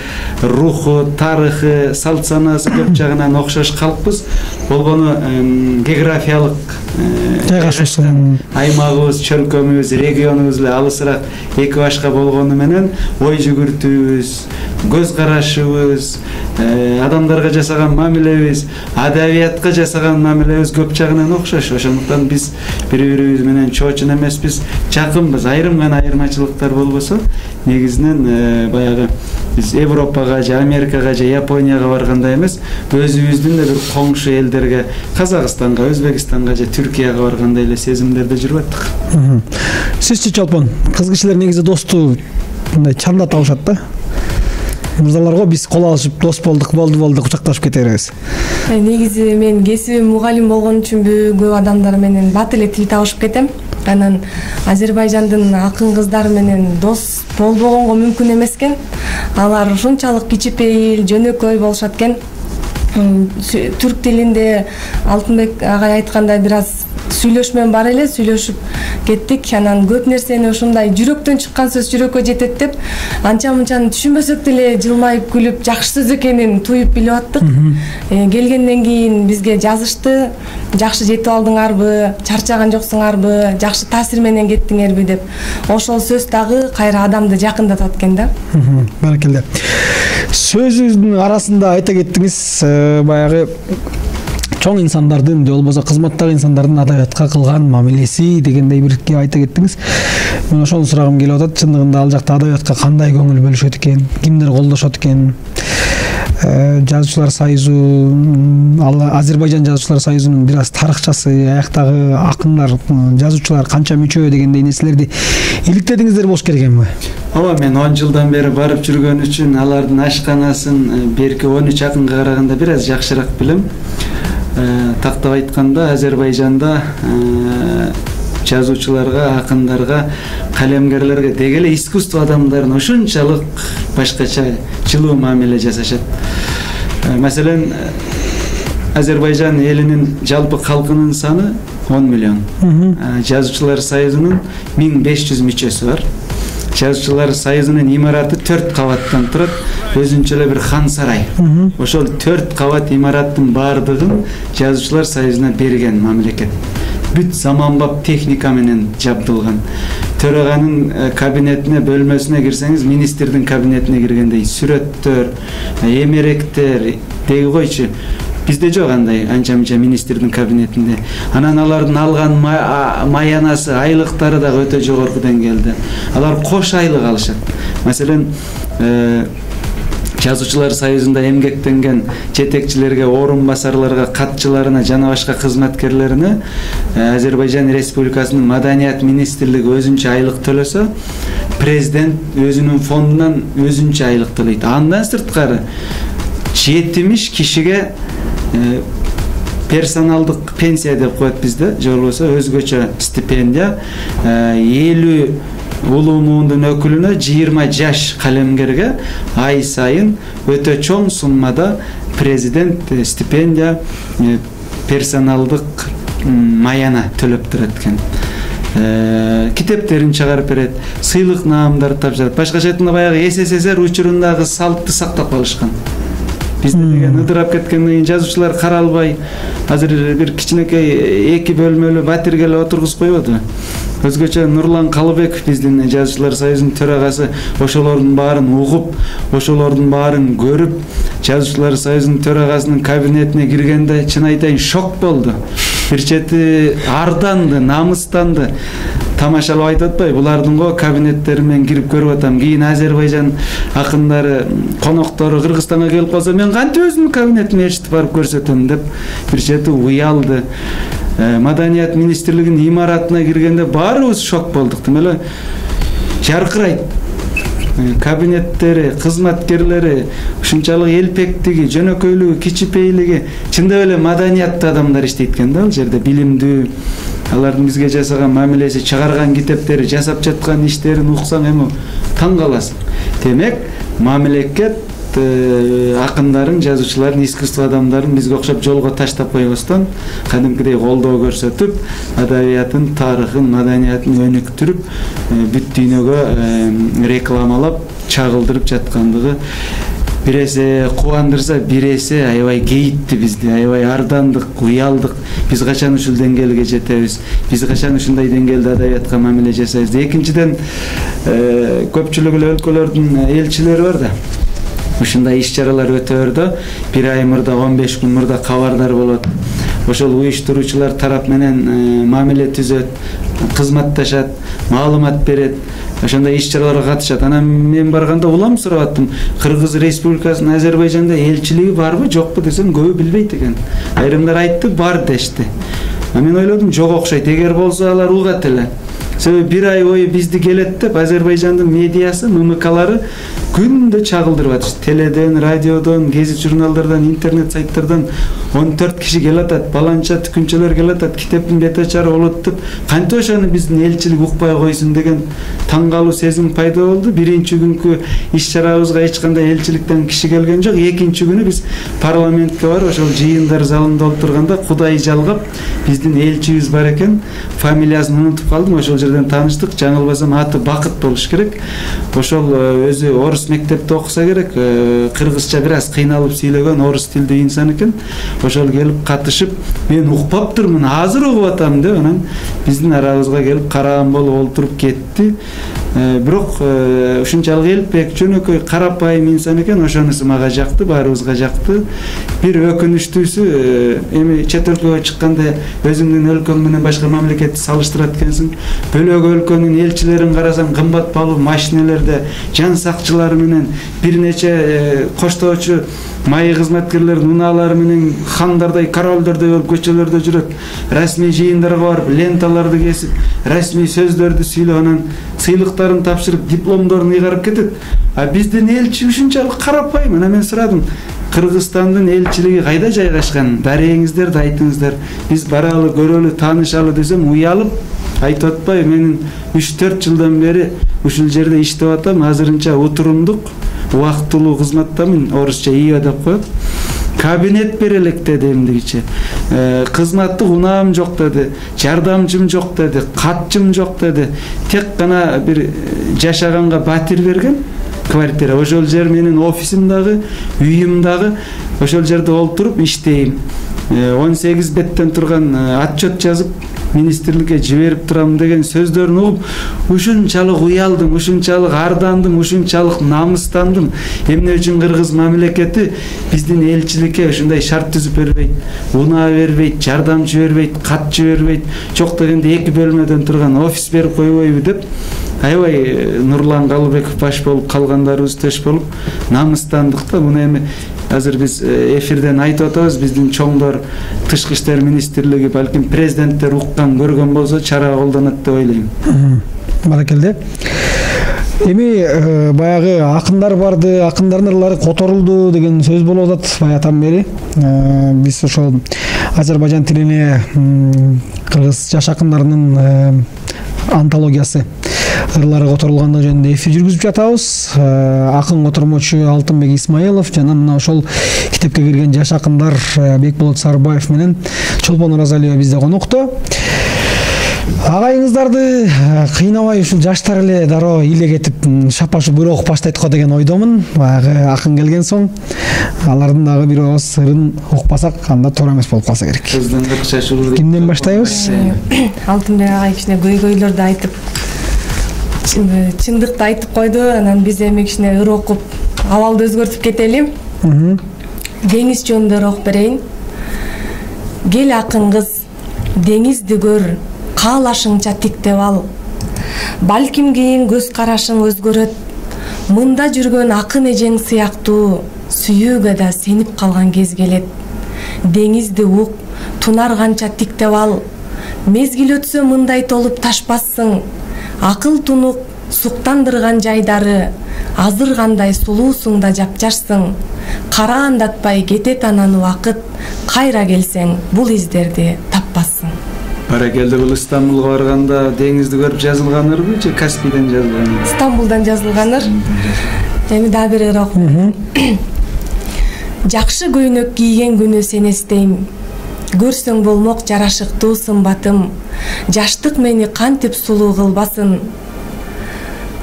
руху, тарыхы, салт санасы көп жагынан окшош калкпыз. Болгону географиялык жайгашуусу, аймагыбыз, чөлкөмүбүз, регионубуз эле алысыраак эки башка болгону менен ой жүгүртүүбүз, көз карашыбыз, адамдарга жасаган мамилебиз, адабиятка жасаган мамилебиз көп жагынан окшош. Ошондуктан биз бири-бирибиз менен чоочун эмеспиз, жакынбыз. Айрым гана айырмачылыктар болбосо, негизинен баягы биз Европага же Америкага же Японияга баргандай эмес, өзүбүздүн да бир коңшу элдерге, Казакстанга, Өзбекстанга же Түркияга баргандай эле сезимдерде жүрүп аттык. Сизчи Чолпон, кыз кишилер негизи досту мындай чанда табышат да. Мырзаларга биз кол алышып дос болдук, болду болду кучакташып кете беребиз. Негизи мен кесибим мугалим болгон үчүн көп адамдар менен бат эле тил табышып кетем. Анан Азербайжандын акын кыздары менен дос болбогонго мүмкүн эмес экен. Алар ушунчалык кичипейил, жөнөкөй болушат экен. Түрк тилинде Алтынбек агай айткандай бир аз сүйлөшмөм бар эле, сүйлөшүп кеттик. Анан көп нерсени ушундай жүрөктөн чыккан сөз жүрөккө жетет деп, анча-мынчаны түшүнбөсөк деле жылмайып күлүп, жакшы сөз экенин туюп билип аттык. Келгенден кийин бизге жазышты, жакшы жетип алдыңарбы, чарчаган жоксуңарбы, жакшы таасир менен кеттиңерби деп. Ошол сөз дагы кайра адамды жакындатат экен да. Баракелде. Сөзүңүздүн арасында айта кеттиңиз, баягы чоң инсандардын же болбосо кызматтагы инсандардын адабиятка кылган мамилеси дегендей бир айта кеттиңиз. Мен ошону сурагым келип атат. Чындыгында ал жакта адабиятка кандай көңүл бөлүшөт экен, кимдер колдошот экен? Жазуучулар союзу, Азербайжан жазуучулар союзунун бир аз тарыхчасы, аяктагы акындар, жазуучулар канча мүчө дегендей нерселерди иликтедиңиздер болуш керек эмби? Ооба, мен он жылдан бери барып жүргөн үчүн алардын ашканасын берки он үч акынга караганда бир аз жакшыраак билем. тактап айтканда Азербайжанда жазуучуларга, акындарга, калемгерлерге деги эле искусство адамдарына ошончолук башкача жылуу мамиле жасашат. Маселен, Азербайжан элинин жалпы калкынын саны он миллион. Жазуучулар союзунун миң беш жүз мүчөсү бар. Жазуучулар союзунун имараты төрт кабаттан турат, өзүнчө эле бир хан сарай. Ошол төрт кабат имараттын баардыгын жазуучулар союзуна берген мамлекет. Бүт заманбап техника менен жабдылган. Төраганын кабинетине, бөлмөсүнө кирсеңиз, министрдин кабинетине киргендей сүрөттөр, эмеректер, деги койчу. Бизде жок андай анча-мынча министрдин кабинетинде. Анан алардын алган маянасы, айлыктары да өтө жогорку деңгээлде. Алар кош айлык алышат. Маселен, жазуучулар союзунда эмгектенген жетекчилерге, орун басарларга, катчыларына жана башка кызматкерлерине Азербайжан Республикасынын Маданият министрлиги өзүнчө айлык төлөсө, президент өзүнүн фондунан өзүнчө айлык төлөйт. Андан сырткары жетимиш кишиге персоналдык пенсия деп коет бизде, же болбосо өзгөчө стипендия, элүү улуу муундун өкүлүнө, жыйырма жаш калемгерге ай сайын өтө чоң суммада президент стипендия, персоналдык маяна төлөп турат экен. Китептерин чыгарып берет, сыйлык наамдарды тапшырат. Башкача айтканда баягы СССР учурундагы салтты сактап калышкан. Бизде деген ыдырап кеткенден кийин жазуучулар каралбай, азыр бир кичинекей эки бөлмөлүү батирге эле отургузуп койбоду. Өзгөчө Нурлан Калыбеков биздин жазуучулар союзунун төрагасы ошолордун баарын угуп, ошолордун баарын көрүп, жазуучулар союзунун төрагасынын кабинетине киргенде чын айтайын шок болду. Бир чети арданды, намыстанды. Тамашалап айтып атпайбы, булардын го кабинеттери менен кирип көрүп атам. Кийин Азербайжан акындары, коноктору Кыргызстанга келип калса, мен кантип өзүмдүн кабинетиме ээрчитип барып көрсөтөм деп бир чети уялды. Маданият министрлигинин имаратына киргенде баарыбыз шок болдук. Тим эле жаркырайт. Кабинеттери, кызматкерлери, ушунчалык элпектиги, жөнөкөйлүгү, кичипейлиги, чындап эле маданияттуу адамдар иштейт экен да, ал жерде билимдүү. Алардын бизге жасаган мамилеси, чыгарган китептери, жасап жаткан иштерин уксаң эми таң каласың. Демек, мамлекет акындарын, жазуучуларын, искусство адамдарын бизге окшоп жолго таштап койбостон, кадимкидей колдоо көрсөтүп, адабиятын, тарыхын, маданиятын өнүктүрүп, бүт дүйнөгө рекламалап, чагылдырып жаткандыгы бир эсе кубандырса, бир эсе аябай кейитти бизди, аябай ардандык, уялдык. Биз качан ушул деңгээлге жетебиз? Биз качан ушундай деңгээлде адабиятка мамиле жасайбыз? Экинчиден, көпчүлүк эле өлкөлөрдүн элчилери бар да. Ушундай иш-чаралар өтө өрдө, бир ай мурда, он беш күн мурда кабардар болот. Ошол уюштуруучулар тарап менен мамиле түзөт, кызматташат, маалымат берет. Ошондой иш-чараларга катышат. Анан мен барганда улам сурап аттым. Кыргыз Республикасынын Азербайжанда элчилиги барбы, жокпу десем, көбү билбейт экен. Айрымдар айтты, бар дешти. А мен ойлодум, жок окшойт. Эгер болсо алар угат эле. Себеби бир ай бою бизди келет деп Азербайжандын медиасы, ММКлары күндө чагылдырып атышты. Теледен, радиодон, гезит журналдардан, интернет сайттардан он төрт киши келатат, баланча түкүнчөлөр келатат, китептин бет ачары болот деп, кантип ошону биздин элчилик укпай койсун деген таң калуу сезим пайда болду. Биринчи күнкү иш-чарабызга эч кандай элчиликтен киши келген жок. Экинчи күнү биз парламентке барып, ошол жыйындар залында отурганда Кудай жалгап, биздин элчибиз бар экен. Фамилиясын унутуп калдым. Ошол жерден тааныштык. Жаңылбасам аты Бакыт болуш керек. Ошол өзү орус мектепте окуса керек. Кыргызча бир аз кыйналып сүйлөгөн орус тилдүү инсан экен. Ошол келип катышып, мен укпаптырмын, азыр угуп атам деп, анан биздин арабызга келип караган болуп олтуруп кетти. Бирок ушунчалык элпек, жөнөкөй, карапайым инсан экен. Ошонусу мага жакты, баарыбызга жакты. Бир өкүнүчтүүсү, эми чет өлкөгө чыкканда өзүңдүн өлкөң менен башка мамлекетти салыштырат экенсиң. Бөлөк өлкөнүн элчилерин карасаң, кымбат баалуу машинелерде, жан сакчылары менен, бир нече коштоочу майы кызматкерлердин унаалары менен хандардай, королдордой болуп көчөлөрдө жүрөт. Расмий жыйындарга барып, ленталарды кесип, расмий сөздөрдү сүйлөп, анан сыйлыктарын тапшырып, дипломдорун ыйгарып кетет. А биздин элчи ушунчалык карапайым. Анан мен сурадым, Кыргызстандын элчилиги кайда жайгашкан? Дарегиңиздер да айтыңыздар. Биз баралы, көрөлү, таанышалы десем уялып айтып атпайбы? Менин үч төрт жылдан бери ушул жерде иштеп атам. Азырынча утурумдук, убактылуу кызматтамын. Орусча ИО деп коет. Кабинет берелек деди эмдигиче. Кызматтык унаам жок деди, жардамчым жок деди, катчым жок деди. Тек гана бир жашаганга батир берген квартира. Ошол жер менин офисим дагы, үйүм дагы. Ошол жерде олтуруп иштейм. он сегиз беттен турган отчет жазып министрликке жиберип турам деген сөздөрүн угуп ушунчалык уялдым, ушунчалык ардандым, ушунчалык намыстандым. Эмне үчүн кыргыз мамлекети биздин элчиликке ушундай шарт түзүп бербейт, унаа бербейт, жардамчы бербейт, катчы бербейт, жок дегенде эки бөлмөдөн турган офис берип койбойбу деп аябай Нурлан Калыбеков баш болуп, калгандарыбыз төш болуп намыстандык да. Муну эми азыр биз эфирден айтып атабыз, биздин чоңдор, тышкы иштер министрлиги, балким президенттер уккан, көргөн болсо чара колдонот деп ойлойм. Баракелде. Эми баягы акындар барды, акындардын ырлары которулду деген сөз болуп атат баягыдан бери. Биз ошол Азербайжан тилине кыргыз жаш акындарынын антологиясы ырлары которулгандыгы жөнүндө эфир жүргүзүп жатабыз. Акын котормочу Алтынбек Исмаилов жана мына ошол китепке кирген жаш акындар Бекболот Сарбаев менен Чолпон Оразалиева бизде конокто. Агайыңыздарды кыйнабай ушул жаштар эле дароо илегетип шапашып бирок баштайт го деген ойдомун. Баягы акын келген соң алардын дагы бир ооз сырын укпасак анда туура эмес болуп калса керек. Кимден баштайбыз? Алтынбек агай кичине көйгөйлөрдү айтып, чындыкты айтып койду. Анан биз эми кичине ыр окуп абалды өзгөртүп кетели. Деңиз жөнүндө окуп берейин. Кел акын кыз, деңизди көр, каалашыңча тиктеп ал. Балким кийин көз карашың өзгөрөт. Мында жүргөн акын эжең сыяктуу сүйүүгө да сенип калган кез келет. Деңизди ук, тунар канча тиктеп ал. Мезгил өтсө мындай толуп ташпассың. Акыл тунук суктандырган жайдары, азыр кандай сулуусуң да жапжашсың. Караандатпай кетет анан убакыт, кайра келсең бул издерди таппассың. Баракелде, бул Стамбулга барганда деңизди көрүп жазылган ырбы же Каспийден жазылган? Стамбулдан жазылган ыр. Эми дагы бир ыр окуйм. Жакшы көйнөк кийген күнү сени эстейм. Көрсөң болмок жарашыктуу сымбатым. Жаштык мени кантип сулуу кылбасын.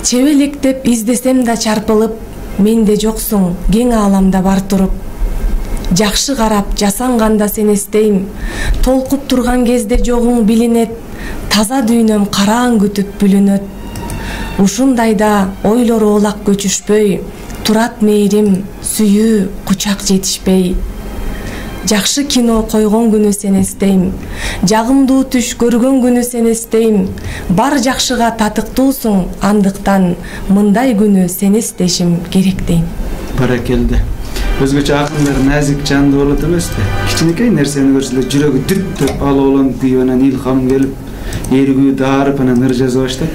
Чебелектеп издесем да чарпылып, менде жоксуң, кең ааламда бар туруп. Жакшы карап жасанганда сени эстейм. Толкуп турган кезде жогуң билинет. Таза дүйнөм караң күтүп бүлүнөт. Ушундайда ойлор оолак көчүшпөй, турат мейрим, сүйүү, кучак жетишпей. Жакшы кино койгон күнү сени эстейм. Жагымдуу түш көргөн күнү сени эстейм. Бар жакшыга татыктуусуң, андыктан мындай күнү сени эстешим керек дейм. Баракелде. Өзгөчө акындар назик жанды болот эмеспи? Кичинекей нерсени көрсө эле жүрөгү дүп деп алууланып күйүп анан илхам келип, эргүү даарып анан ыр жаза баштайт.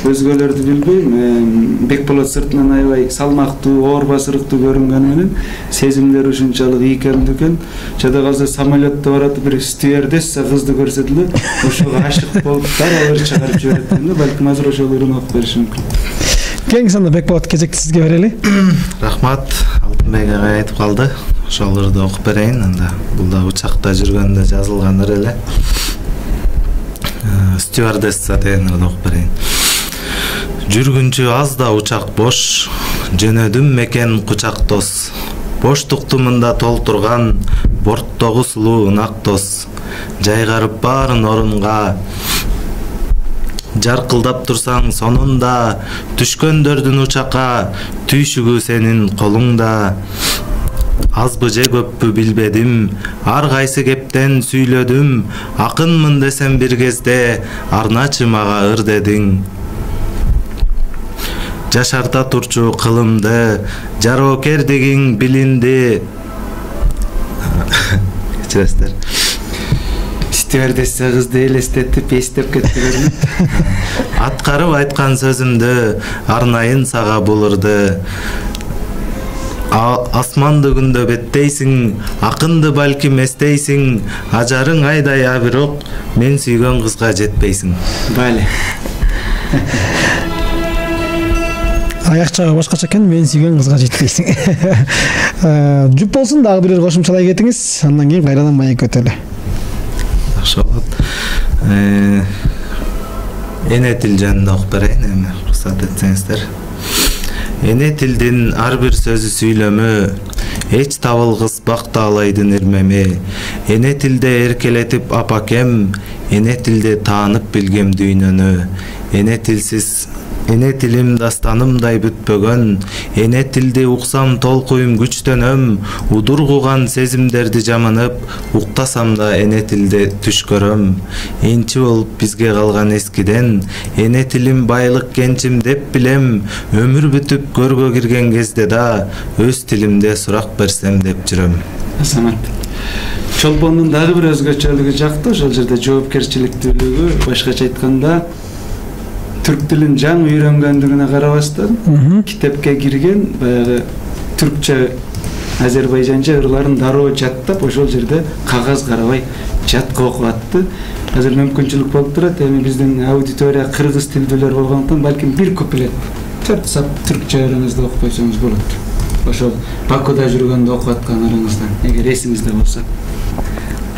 Өзгөлөрдү билбейм, Бекболот сыртынан аябай салмактуу, оор басырыктуу көрүнгөнү менен сезимдери ушунчалык ийкемдүү экен. Жада калса самолетто барат бир стюардесса кызды көрсөт эле, ошого ашык болуп дароо ыр чыгарып жиберет да. Балким азыр ошол ырын окуп бериши мүмкүн. Кеңиз анда Бекболот кезекти сизге берели. Рахмат. Алтынбек агай айтып калды. Ошол ырды окуп берейин. Анда бул да учакта жүргөндө жазылган ыр эле. Стюардесса деген ырды окуп берейин. Жүргүнчү аз да учак бош, жөнөдүм мекен кучак дос. Боштукту мында толтурган, борттогу сулуу ынак дос. Жайгарып баарын орунга, жаркылдап турсаң сонунда, түшкөндөрдүн учакка, түйшүгү сенин колуңда. Азбы же көппү билбедим, ар кайсы кептен сүйлөдүм, акынмын десем бир кезде, арначы мага ыр дедиң. Жашарта турчу кылымды, жароокердигиң билинди. Кечиресиздер. Стюардесса кызды элестетип, эстеп кетти. Аткарып айткан сөзүмдү, арнайын сага бул ырды. асманды күндө беттейсиң, акынды балким эстейсиң, ажарың айдай а бирок мен сүйгөн кызга жетпейсиң. Бали. Аяк жагы башкача экен, мен сүйгөн кызга жетпейсиң. Жуп болсун, дагы бирер кошумчалай кетиңиз, андан кийин кайрадан маек өтөлү. Жакшы болот. Эне тил жөнүндө окуп берейин, эми уруксат этсеңиздер. Эне тилдин ар бир сөзү сүйлөмө, эч табылгыс бактаалайдын ирмеми. Эне тилде эркелетип апакем, эне тилде таанып билгем дүйнөнү. Эне тилсиз Эне тилим дастанымдай бүтпөгөн, эне тилди уксам толкуйм күчтөнөм, удургуган сезимдерди жаманып, уктасам да эне тилде түш көрөм. Энчи болуп бизге калган эскиден, эне тилим байлык кенчим деп билем, өмүр бүтүп көргө кирген кезде да өз тилимде сурак берсем деп жүрөм. Самат. Чолбондун дагы бир өзгөчөлүгү жакты, ошол жерде жоопкерчиликтүүлүгү, башкача айтканда түрк тилин жаңы үйрөнгөндүгүнө карабастан китепке кирген баягы түркчө азербайжанча ырларын дароо жаттап ошол жерде кагаз карабай жатка окуп атты. Азыр мүмкүнчүлүк болуп турат, эми биздин аудитория кыргыз тилдүүлөр болгондуктан балким бир куплет төрт сап түркчө өрүңүздө окуп койсоңуз болот. Ошол Бакуда жүргөндө окуп аткан ырыңыздан, эгер эсиңизде болсо.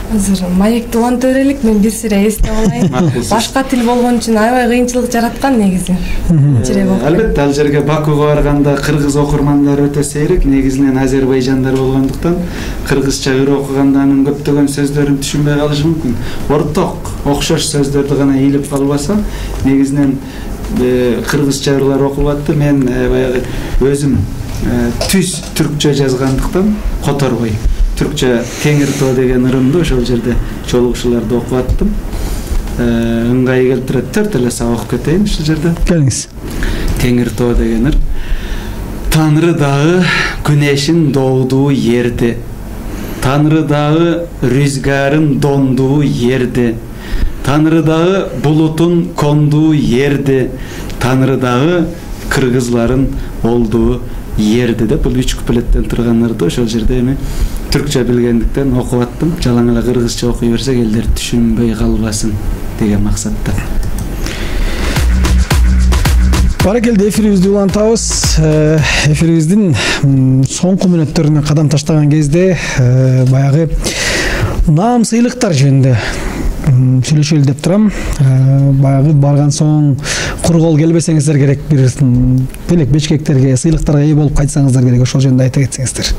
Азыр маекти уланта берелик, мен бир сире эстеп алайын. Башка тил болгон үчүн аябай кыйынчылык жараткан негизи. Албетте, ал жерге Бакуга барганда кыргыз окурмандар өтө сейрек, негизинен азербайжандар болгондуктан кыргызча ыр окуганда анын көптөгөн сөздөрүн түшүнбөй калышы мүмкүн. Орток, окшош сөздөрдү гана ийилип калбаса, негизинен кыргызча ырлар окулуп атты. Мен баягы өзүм түз түркчө жазгандыктан которбой түркчө Теңир тоо деген ырымды ошол жерде чогулугушууларды окуп аттым. Ыңгай келтирет, төрт эле сабак кетейин ушул жерде. Келиңиз. Теңир тоо деген ыр. Танры дагы күнешин доодуу ерди. Танры дагы рүзгарын дондуу ерди. Танры дагы булутун кондуу ерди. Танры дагы кыргызларын олдуу ерди деп бул үч куплеттен турган ырды ошол жерде эми түркчө билгендиктен окуп аттым. Жалаң эле кыргызча окуй берсек элдер түшүнбөй калбасын деген максатта. Баракелде, эфирибизди улантабыз. Эфирибиздин соңку мүнөттөрүнө кадам таштаган кезде баягы наам сыйлыктар жөнүндө сүйлөшөлү деп турам. Баягы барган соң кур кол келбесеңиздер керек, бир белек бечкектерге, сыйлыктарга ээ болуп кайтсаңыздар керек, ошол жөнүндө айта кетсеңиздер.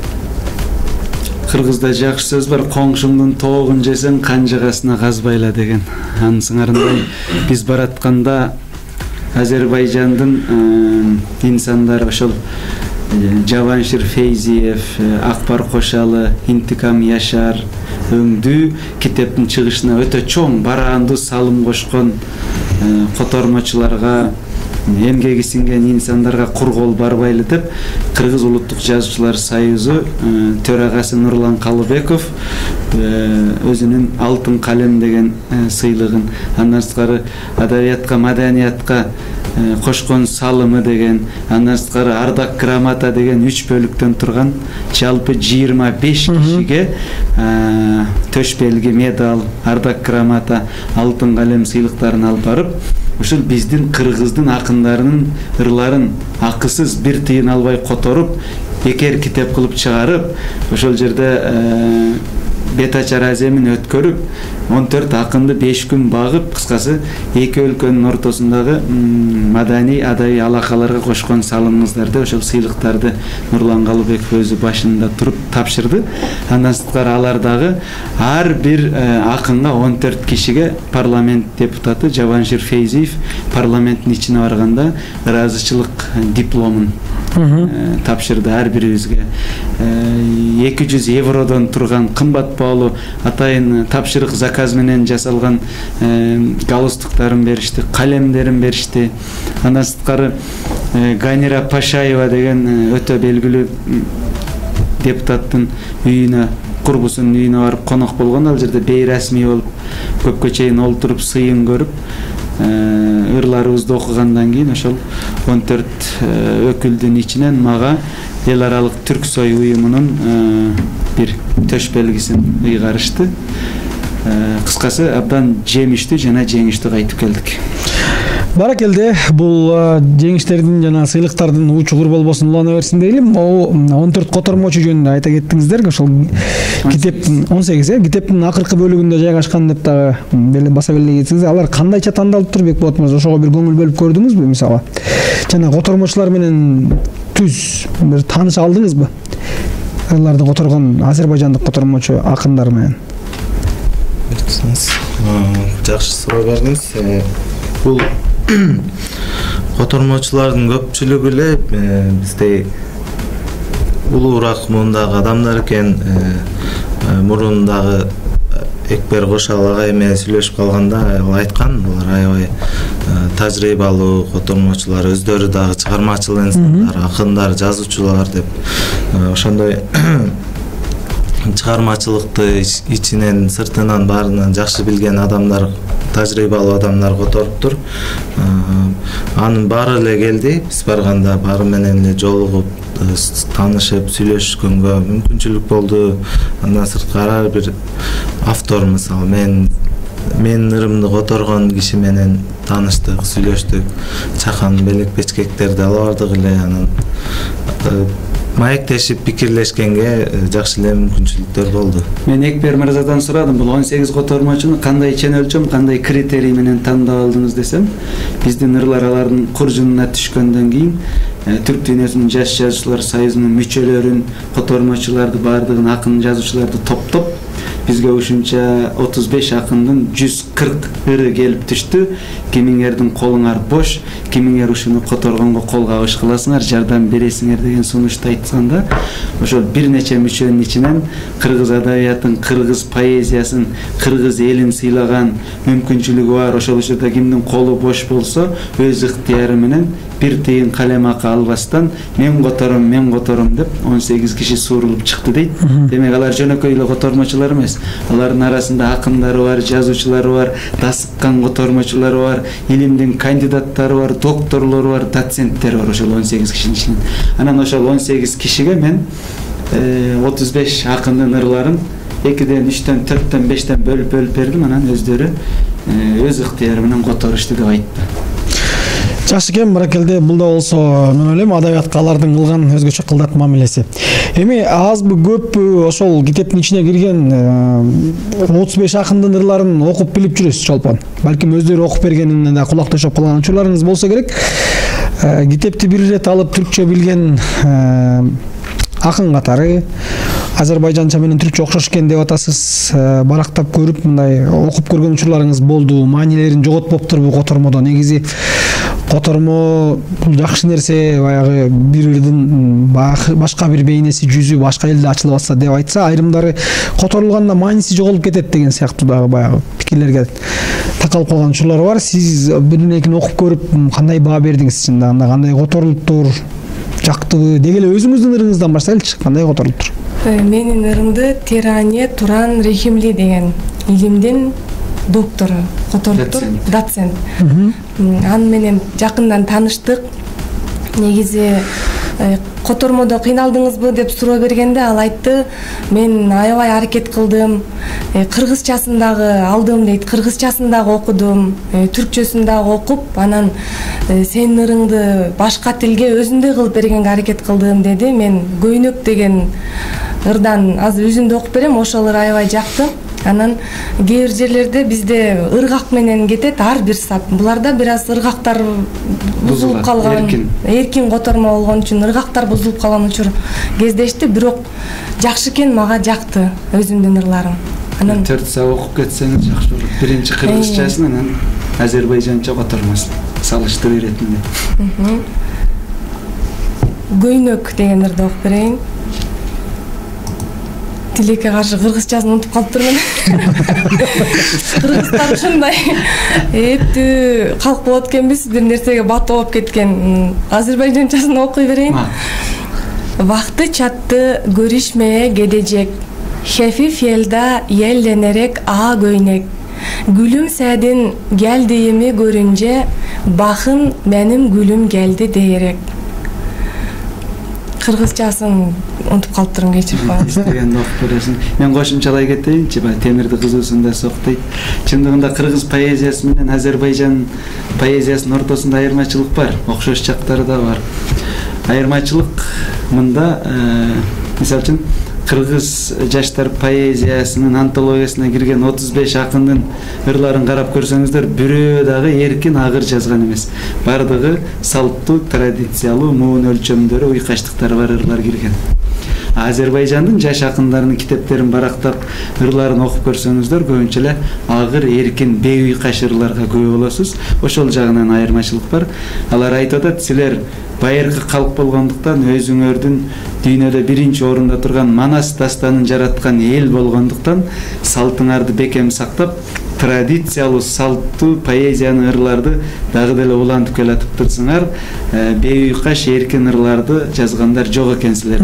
Кыргызда жакшы сөз бар, коңшуңдун тоогун жесең канжыгасына казбайла деген. Анын сыңарындай биз баратканда Азербайжандын инсандары ошол Жаваншир Фейзиев, Акбар Кошалы, Интикам Яшар өңдүү китептин чыгышына өтө чоң бараандуу салым кошкон котормочуларга, эмгеги сиңген инсандарга кур кол барбайлы деп Кыргыз улуттук жазуучулар союзу төрагасы Нурлан Калыбеков өзүнүн алтын калем деген сыйлыгын, андан сырткары адабиятка, маданиятка кошкон салымы деген, андан сырткары ардак грамота деген үч бөлүктөн турган жалпы жыйырма беш кишиге төш белги, медаль, ардак грамота, алтын калем сыйлыктарын алып барып, ушул биздин кыргыздын акындарынын ырларын акысыз бир тыйын албай которуп, бекер китеп кылып чыгарып, ошол жерде бет ачар аземин өткөрүп, он төрт акынды беш күн багып, кыскасы эки өлкөнүн ортосундагы маданий адабий алакаларга кошкон салымыңыздарды, ошол сыйлыктарды Нурлан Калыбеков өзү башында туруп тапшырды. Андан сырткары алар дагы ар бир акынга он төрт кишиге парламент депутаты Жаваншир Фейзиев парламенттин ичине барганда ыраазычылык дипломун тапшырды ар бирибизге. эки жүз евродон турган кымбат баалуу атайын тапшырык заказ менен жасалган галстуктарын беришти, калемдерин беришти. Андан сырткары Ганира Пашаева деген өтө белгилүү депутаттын үйүнө, курбусунун үйүнө барып конок болгон. Ал жерде бейрасмий болуп көпкө чейин олтуруп сыйын көрүп, ырларыбызды окугандан кийин ошол он төрт өкүлдүн ичинен мага эл аралык түрк сой уюмунун бир төш белгисин ыйгарышты. Кыскасы абдан жемиштүү жана жеңиштүү кайтып келдик. Баракелде, бул жеңиштердин жана сыйлыктардын учугур болбосун улана берсин дейли. он төрт котормочу жөнүндө айта кеттиңиздер. Ошол китептин он сегиз э китептин акыркы бөлүгүндө жайгашкан деп дагы баса белгилей кетсеңиз, алар кандайча тандалыптыр Бекболот мырза? Ошого бир көңүл бөлүп көрдүңүзбү мисалы? Жана котормочулар менен түз бир тааныша алдыңызбы? Аларды которгон азербайжандык котормочу акындар менен. Жакшы суроо бердиңиз. Бул котормочулардын көпчүлүгү эле биздей улуураак муундагы адамдар экен. Мурундагы Экбер Кошал агай менен сүйлөшүп калганда ал айткан, булар аябай тажрыйбалуу котормочулар, өздөрү дагы чыгармачыл инсандар, акындар, жазуучулар деп. Ошондой чыгармачылыкты ичинен, сыртынан баарынан жакшы билген адамдар, тажрыйбалуу адамдар которуптур. Анын баары эле келди. Биз барганда баары менен эле жолугуп, таанышып, сүйлөшкөнгө мүмкүнчүлүк болду. Андан сырткары ар бир автор, мисалы мен менин ырымды которгон киши менен тааныштык, сүйлөштүк. Чакан белек печкектерди ала бардык эле, анан маектешип пикирлешкенге жакшы эле мүмкүнчүлүктөр болду. Мен Экбер мырзадан сурадым, бул он сегиз котормочуну кандай ченөлчөм, кандай критерий менен тандап алдыңыз десем, биздин ырлар алардын куржунуна түшкөндөн кийин Түрк дүйнөсүнүн жаш жазуучулар союзунун мүчөлөрүн, котормочуларды баардыгын, акын жазуучуларды топтоп, бизге ушунча отуз беш акындын жүз кырк ыры келип түштү. Кимиңердин колуңар бош, кимиңер ушуну которгонго кол кабыш кыласыңар, жардам бересиңер деген сунушту айтканда, ошол бир нече мүчөнүн ичинен кыргыз адабиятын, кыргыз поэзиясын, кыргыз элин сыйлаган мүмкүнчүлүгү бар, ошол учурда кимдин колу бош болсо, өз ыктыяры менен бир тыйын калем акы албастан мен котором, мен котором деп он сегиз киши суурулуп чыкты дейт. Демек алар жөнөкөй эле котормочулар эмес. Алардын арасында акындары бар, жазуучулары бар, дасыккан котормочулары бар, илимдин кандидаттары бар, докторлору бар, доценттери бар ошол он сегиз кишинин ичинен. Анан ошол он сегиз кишиге мен отуз беш акындын ырларын экиден, үчтөн, төрттөн, бештен бөлүп бөлүп бердим. Анан өздөрү өз ыктыяры менен которушту деп айтты. Жакшы экен, баракелде. Бул да болсо мен ойлойм адабиятка алардын кылган өзгөчө кылдат мамилеси. Эми азбы көппү ошол китептин ичине кирген отуз беш акындын ырларын окуп билип жүрөсүз чолпон. Балким өздөрү окуп бергенине да кулак төшөп калган учурларыңыз болсо керек. Китепти бир ирет алып түркчө билген акын катары азербайжанча менен түркчө окшош экен деп атасыз. Барактап көрүп мындай окуп көргөн учурларыңыз болду. Маанилерин жоготпоптурбу котормодо? Негизи котормо бул жакшы нерсе, баягы бир ырдын башка бир бейнеси, жүзү башка элде ачылып атса деп айтса, айрымдары которулганда мааниси жоголуп кетет деген сыяктуу дагы баягы пикирлерге такалып калган учурлар бар. Сиз бирин экин окуп көрүп кандай баа бердиңиз? Чында кандай которулуптур? Жактыбы? Деги эле өзүңүздүн ырыңыздан баштайлычы, кандай которулуптур? Менин ырымды Теране Туран Рехимли деген илимдин доктору которуптур, доцент. Аны менен жакындан тааныштык. Негизи котормодо кыйналдыңызбы деп суроо бергенде ал айтты, мен аябай аракет кылдым, кыргызчасын дагы алдым дейт, кыргызчасын дагы окудум, түркчөсүн дагы окуп, анан сенин ырыңды башка тилге өзүндөй кылып бергенге аракет кылдым деди. Мен Көйнөк деген ырдан азыр үзүндү окуп берем, ошол ыр аябай жакты. Анан кээ бир жерлерде бизде ыргак менен кетет ар бир сап. Буларда бир аз ыргактар бузулуп калган, эркин котормо болгон үчүн ыргактар бузулуп калган учур кездешти, бирок жакшы экен, мага жакты өзүмдүн ырларым. Анан төрт сап окуп кетсеңиз жакшы болот. Биринчи кыргызчасын, анан азербайжанча котормосын салыштырып иретинде. Көйнөк деген ырды окуп берейин. Тилекке каршы кыргызчасын унутуп калыптырмын. Кыргыздар ушундай эптүү калк болот экенбиз, бир нерсеге бат болуп кеткен. Азербайжанчасын окуй берейин. Вакты чатты көрүшмeye gelecek. Хефиф елда елленерек а көйнек. Гүлүм сәдин geldiğimi görünce bakın benim gülüm geldi diyerek. кыргызчасын унутуп калыптырмын, кечирип коюңуз. Истегенди окуп бересиң. Мен кошумчалай кетейинчи, баягы темирди кызуусунда соктойт. Чындыгында кыргыз поэзиясы менен Азербайжан поэзиясынын ортосунда айырмачылык бар, окшош жактары да бар. Айырмачылык мында, мисалы үчүн кыргыз жаштар поэзиясынын антологиясына кирген отуз беш акындын ырларын карап көрсөңүздөр, бирөө дагы эркин агыр жазган эмес. Бардыгы салттуу, традициялуу, муун өлчөмдөрү, уйкаштыктары бар ырлар кирген. Азербайжандын жаш акындарынын китептерин барактап, ырларын окуп көрсөңүздөр, көбүнчө эле агыр, эркин, бейуйкаш ырларга күбө болосуз. Ошол жагынан айырмачылык бар. Алар айтып атат, силер байыркы калк болгондуктан, өзүңөрдүн дүйнөдө биринчи орунда турган Манас дастанын жараткан эл болгондуктан, салтыңарды бекем сактап, традициялуу, салттуу поэзиянын ырларды дагы деле улантып келатыптырсыңар. Бейуйкаш, эркин ырларды жазгандар жок экенсилер.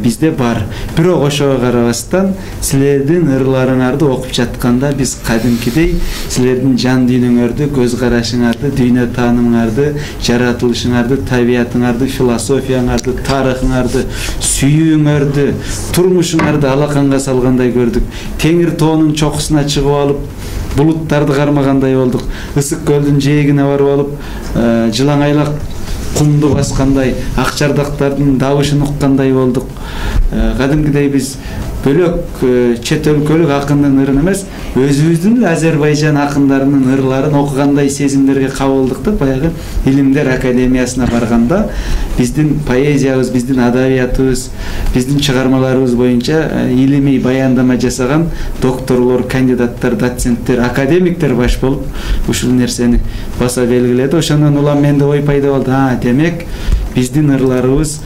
Бизде бар. Бирок ошого карабастан, силердин ырларыңарды окуп жатканда биз кадимкидей силердин жан дүйнөңөрдү, көз карашыңарды, дүйнө таанымыңарды, жаратылышыңарды, табиятыңарды, философияңарды, тарыхыңарды, сүйүүңөрдү, турмушуңарды алаканга салгандай көрдүк. Теңир тоонун чокусуна чыгып алып, булуттарды кармагандай болдук. Ысык көлдүн жээгине барып алып, жылаңайлак кумду баскандай, ак жардактардын дабышын уккандай болдук. Кадимкидей биз бөлөк чет өлкөлүк акындын ырын эмес, өзүбүздүн Азербайжан акындарынын ырларын окугандай сезимдерге кабылдык да, баягы Илимдер академиясына барганда биздин поэзиябыз, биздин адабиятыбыз, биздин чыгармаларыбыз боюнча илимий баяндама жасаган докторлор, кандидаттар, доценттер, академиктер баш болуп ушул нерсени баса белгиледи. Ошондон улам менде ой пайда болду. А, демек биздин ырларыбыз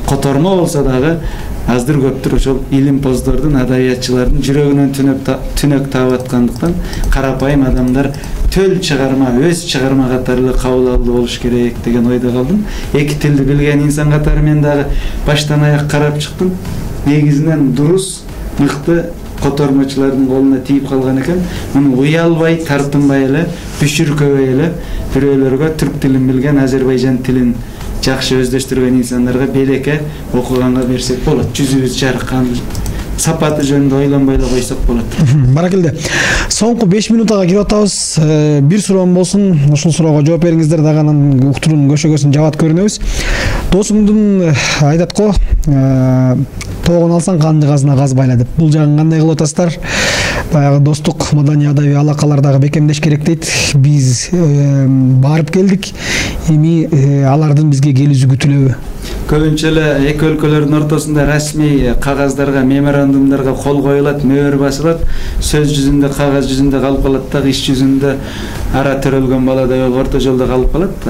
котормо болсо дагы аздыр көптүр ошол илимпоздордун, адабиятчылардын жүрөгүнөн түнөк таап аткандыктан карапайым адамдар төл чыгарма, өз чыгарма катары кабыл алуу болуш керек деген ойдо калдым. Эки тилди билген инсан катары мен дагы баштан аяк карап чыктым. Негизинен дурус, мыкты котормочулардын колуна тийип калган экен. Муну уялбай, тартынбай эле, бүшүркөбөй эле бирөөлөргө түрк тилин билген, Азербайжан тилин жакшы өздөштүргөн инсандарга белекке окуганга берсек болот. Жүзүбүз жаркан, сапаты жөнүндө ойлонбой эле койсок болот. Баракелде. Соңку беш минутага кирип атабыз. Бир суроом болсун. Ушул суроого жооп бериңиздер, дагы анан уктуруунун көшөгөсүн жабат көрүнөбүз. Досуңдун айтат го, тоогун алсаң канды казына казбайла деп. Бул жагын кандай кылып атасыздар? Баягы достук, маданий, адабий алакалар дагы бекемдеш керек дейт. Биз барып келдик. Эми алардын бизге келүүсү күтүлөбү? Көбүнчө эле эки өлкөлөрдүн ортосунда расмий кагаздарга, меморандумдарга кол коюлат, мөөр басылат, сөз жүзүндө, кагаз жүзүндө калып калат дагы, иш жүзүндө ара төрөлгөн баладай болуп орто жолдо калып калат.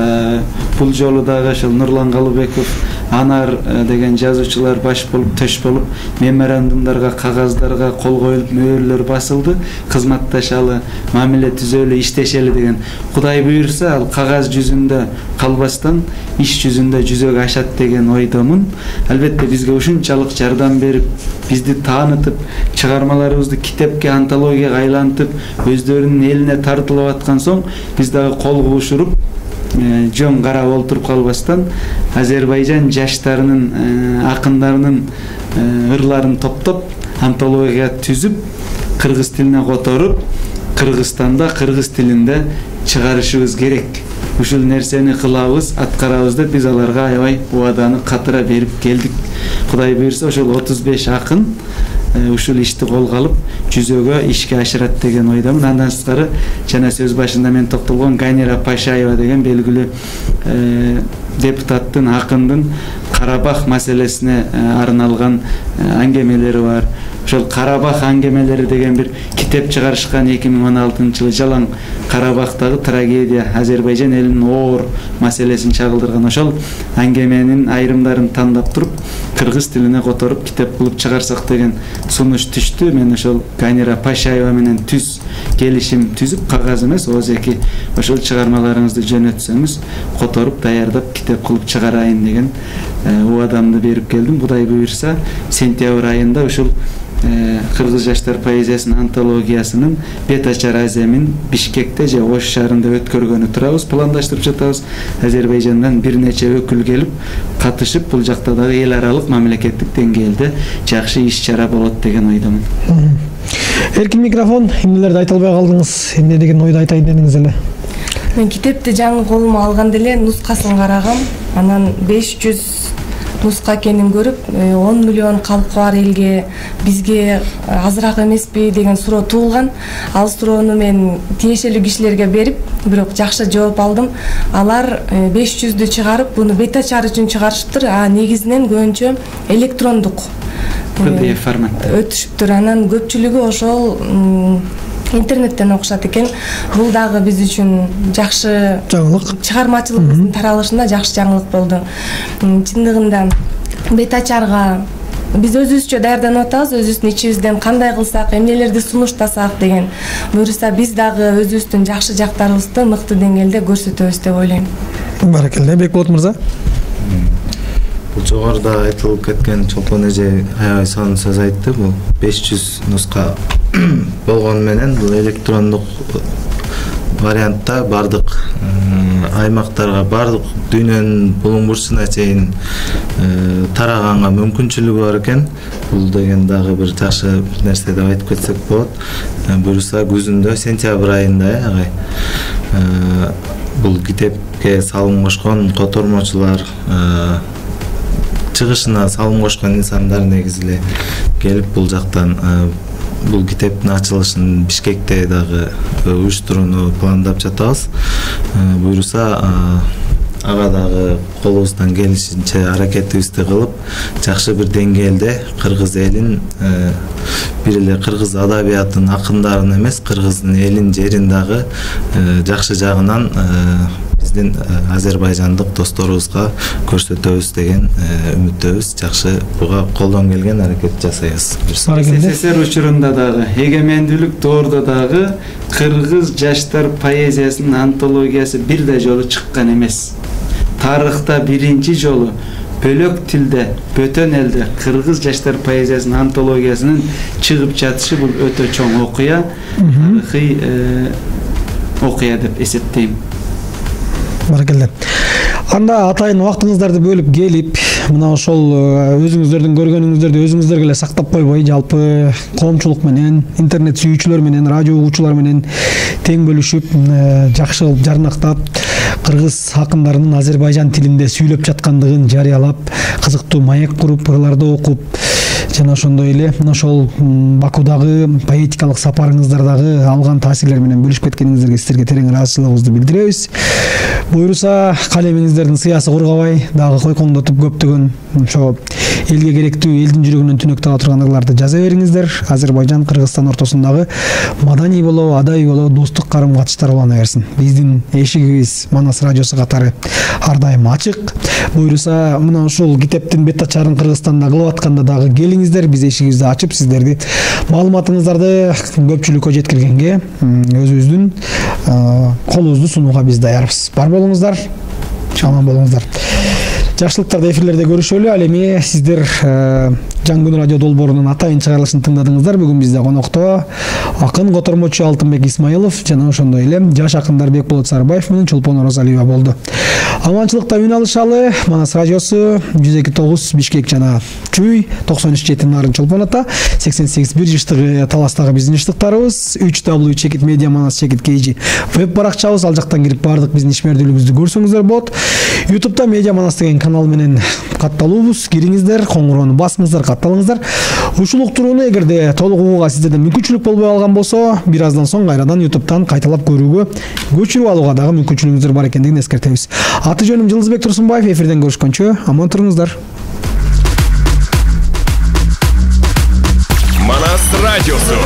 Бул жолу дагы ошол Нурлан Калыбеков, Анар деген жазуучулар баш болуп, төш болуп, меморандумдарга, кагаздарга кол коюлуп, мөөрлөр басылды. Кызматташалы, мамиле түзөлү, иштешели деген. Кудай буйрса, ал кагаз жүзүндө калбастан иш жүзүндө жүзөгө ашат деген ойдомун. Албетте бизге ушунчалык жардам берип, бизди таанытып, чыгармаларыбызды китепке, антологияга айлантып, өздөрүнүн элине тартылып аткан соң, биз дагы кол куушуруп, жөн карап олтуруп калбастан Азербайжан жаштарынын, акындарынын ырларын топтоп, антология түзүп, кыргыз тилине которуп, Кыргызстанда кыргыз тилинде чыгарышыбыз керек. Ушул нерсени кылабыз, аткарабыз деп биз аларга аябай убаданы катыра берип келдик. Кудай буйрса, ошол отуз беш акын ушул ишти колго алып, жүзөгө ишке ашырат деген ойдомун. Андан сырткары, жана сөз башында мен токтолгон Ганира Пашаева деген белгилүү депутаттын, акындын Карабах маселесине арналган аңгемелери бар. Ошол Карабах аңгемелери деген бир китеп чыгарышкан эки миң он алтынчы жылы. Жалаң Карабахтагы трагедия, Азербайжан элинин оор маселесин чагылдырган ошол аңгеменин айрымдарын тандап туруп, кыргыз тилине которуп китеп кылып чыгарсак деген сунуш түштү. Мен ошол Ганира Пашаева менен түз келишим түзүп, кагаз эмес, озеки ошол чыгармаларыңызды жөнөтсөңүз, которуп, даярдап китеп кылып чыгарайын деген убадамды берип келдим. Кудай буйрса, сентябрь айында ушул кыргыз жаштар поэзиясынын антологиясынын бет ачар аземин Бишкекте же Ош шаарында өткөргөнү турабыз, пландаштырып жатабыз. Азербайжандан бир нече өкүл келип катышып, бул жакта дагы эл аралык мамлекеттик деңгээлде жакшы иш-чара болот деген ойдомун. Эркин микрофон, эмнелерди айта албай калдыңыз? Эмне деген ойду айтайын дедиңиз эле? Мен китепти жаңы колума алганда эле нускасын карагам. Анан беш жүз нуска экенин көрүп, он миллион калкы бар элге бизге азыраак эмеспи деген суроо туулган. Ал суроону мен тиешелүү кишилерге берип, бирок жакшы жооп алдым. Алар беш жүздү чыгарып, буну бет ачар үчүн чыгарышыптыр. А негизинен көбүнчө электрондук пи ди эф форматта өтүшүптүр. Анан көпчүлүгү ошол интернеттен окушат экен. Бул дагы биз үчүн жакшы жаңылык, чыгармачылыгыбыздын таралышында жакшы жаңылык болду. Чындыгында бет ачарга биз өзүбүзчө даярданып атабыз, өзүбүздүн ичибизден кандай кылсак, эмнелерди сунуштасак деген. Буюрса биз дагы өзүбүздүн жакшы жактарыбызды мыкты деңгээлде көрсөтөбүз деп ойлойм. Баракелде, Бекболот мырза. Бул жогоруда айтылып кеткен Чолпон эже аябай сонун сөз айтты. Бул беш жүз нуска болгону менен бул электрондук вариантта бардык аймактарга, бардык дүйнөнүн булуң бурчуна чейин тараганга мүмкүнчүлүгү бар экен. Бул деген дагы бир жакшы нерсе деп айтып кетсек болот. Буюрса күзүндө, сентябрь айында агай бул китепке салым кошкон котормочулар, чыгышына салым кошкон инсандар негизи эле келип бул жактан бул китептин ачылышын Бишкекте дагы уюштурууну пландап жатабыз. Буюрса ага дагы колубуздан келишинче аракетибизди кылып, жакшы бир деңгээлде кыргыз элин, бир эле кыргыз адабиятынын акындарын эмес, кыргыздын элин, жерин дагы жакшы жагынан биздин азербайжандык досторубузга көрсөтөбүз деген үмүттөбүз. Жакшы буга колдон келген аракет жасайбыз. эс эс эс эр учурунда дагы, эгемендүүлүк доордо дагы кыргыз жаштар поэзиясынын антологиясы бир да жолу чыккан эмес. Тарыхта биринчи жолу бөлөк тилде, бөтөн элде кыргыз жаштар поэзиясынын антологиясынын чыгып жатышы бул өтө чоң окуя, тарыхый окуя деп эсептейм. Баракелде. Анда атайын убактыңыздарды бөлүп келип, мына ошол өзүңүздөрдүн көргөнүңүздөрдү өзүңүздөр эле сактап койбой, жалпы коомчулук менен, интернет сүйүүчүлөр менен, радио угуучулар менен тең бөлүшүп, жакшы кылып жарнактап, кыргыз акындарынын Азербайжан тилинде сүйлөп жаткандыгын жарыялап, кызыктуу маек куруп, ырларды окуп, жана ошондой эле ошол Бакудагы поэтикалык сапарыңыздардагы алган таасирлер менен бөлүшүп кеткениңиздерге сиздерге терең ыраазычылыгыбызды билдиребиз. Буюрса, калемиңиздердин сыясы кургабай, дагы койкоңдотуп көптөгөн ошо элге керектүү, элдин жүрөгүнөн түнөктү ала турган ырларды жаза бериңиздер. Азербайжан, Кыргызстан ортосундагы маданий болобу, адабий болобу, достук карым-катыштар улана берсин. Биздин эшигибиз Манас радиосу катары ар дайым ачык. Буюрса, мына ушул китептин бет ачарын Кыргызстанда кылып атканда дагы келиңиздер, биз эшигибизди ачып, сиздерди маалыматыңыздарды көпчүлүккө жеткиргенге, өзүбүздүн колубузду сунууга биз даярбыз. Бар болуңуздар, аман болуңуздар. Жакшылыктарды эфирлерде көрүшөлү. Ал эми сиздер Жаңы күн радио долбоорунун атайын чыгарылышын тыңдадыңыздар. Бүгүн бизде конокто акын котормочу Алтынбек Исмаилов жана ошондой эле жаш акындар Бекболот Сарыбаев менен Чолпон Оразалиева болду. Аманчылыкта үн алышалы. Манас радиосу жүз эки тогуз Бишкек жана Чүй, токсон үч жети Нарын Чолпон ата, сексен сегиз бир жыштыгы Таластагы биздин жыштыктарыбыз, үч дабл ю чекит медиа манас чекит kg веб баракчабыз, ал жактан кирип бардык биздин ишмердүүлүгүбүздү көрсөңүздөр болот. YouTube'да медиа манас деген канал менен катталуубуз. Кириңиздер, коңгуроону басыңыздар, катталыңыздар. Ушул уктурууну эгерде толук угууга сиздерде мүмкүнчүлүк болбой калган болсо, бир аздан соң кайрадан YouTube'дан кайталап көрүүгө, көчүрүп алууга дагы мүмкүнчүлүгүңүздөр бар экендигин эскертебиз. Аты жөнүм Жылдызбек Турсунбаев. Эфирден көрүшкөнчө аман туруңуздар. Манас радиосу.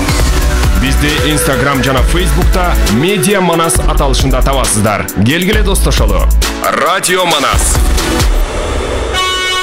Бизди Instagram жана Facebook'та Медиа Манас аталышында табасыздар. Келгиле достошолу. Радио Манас.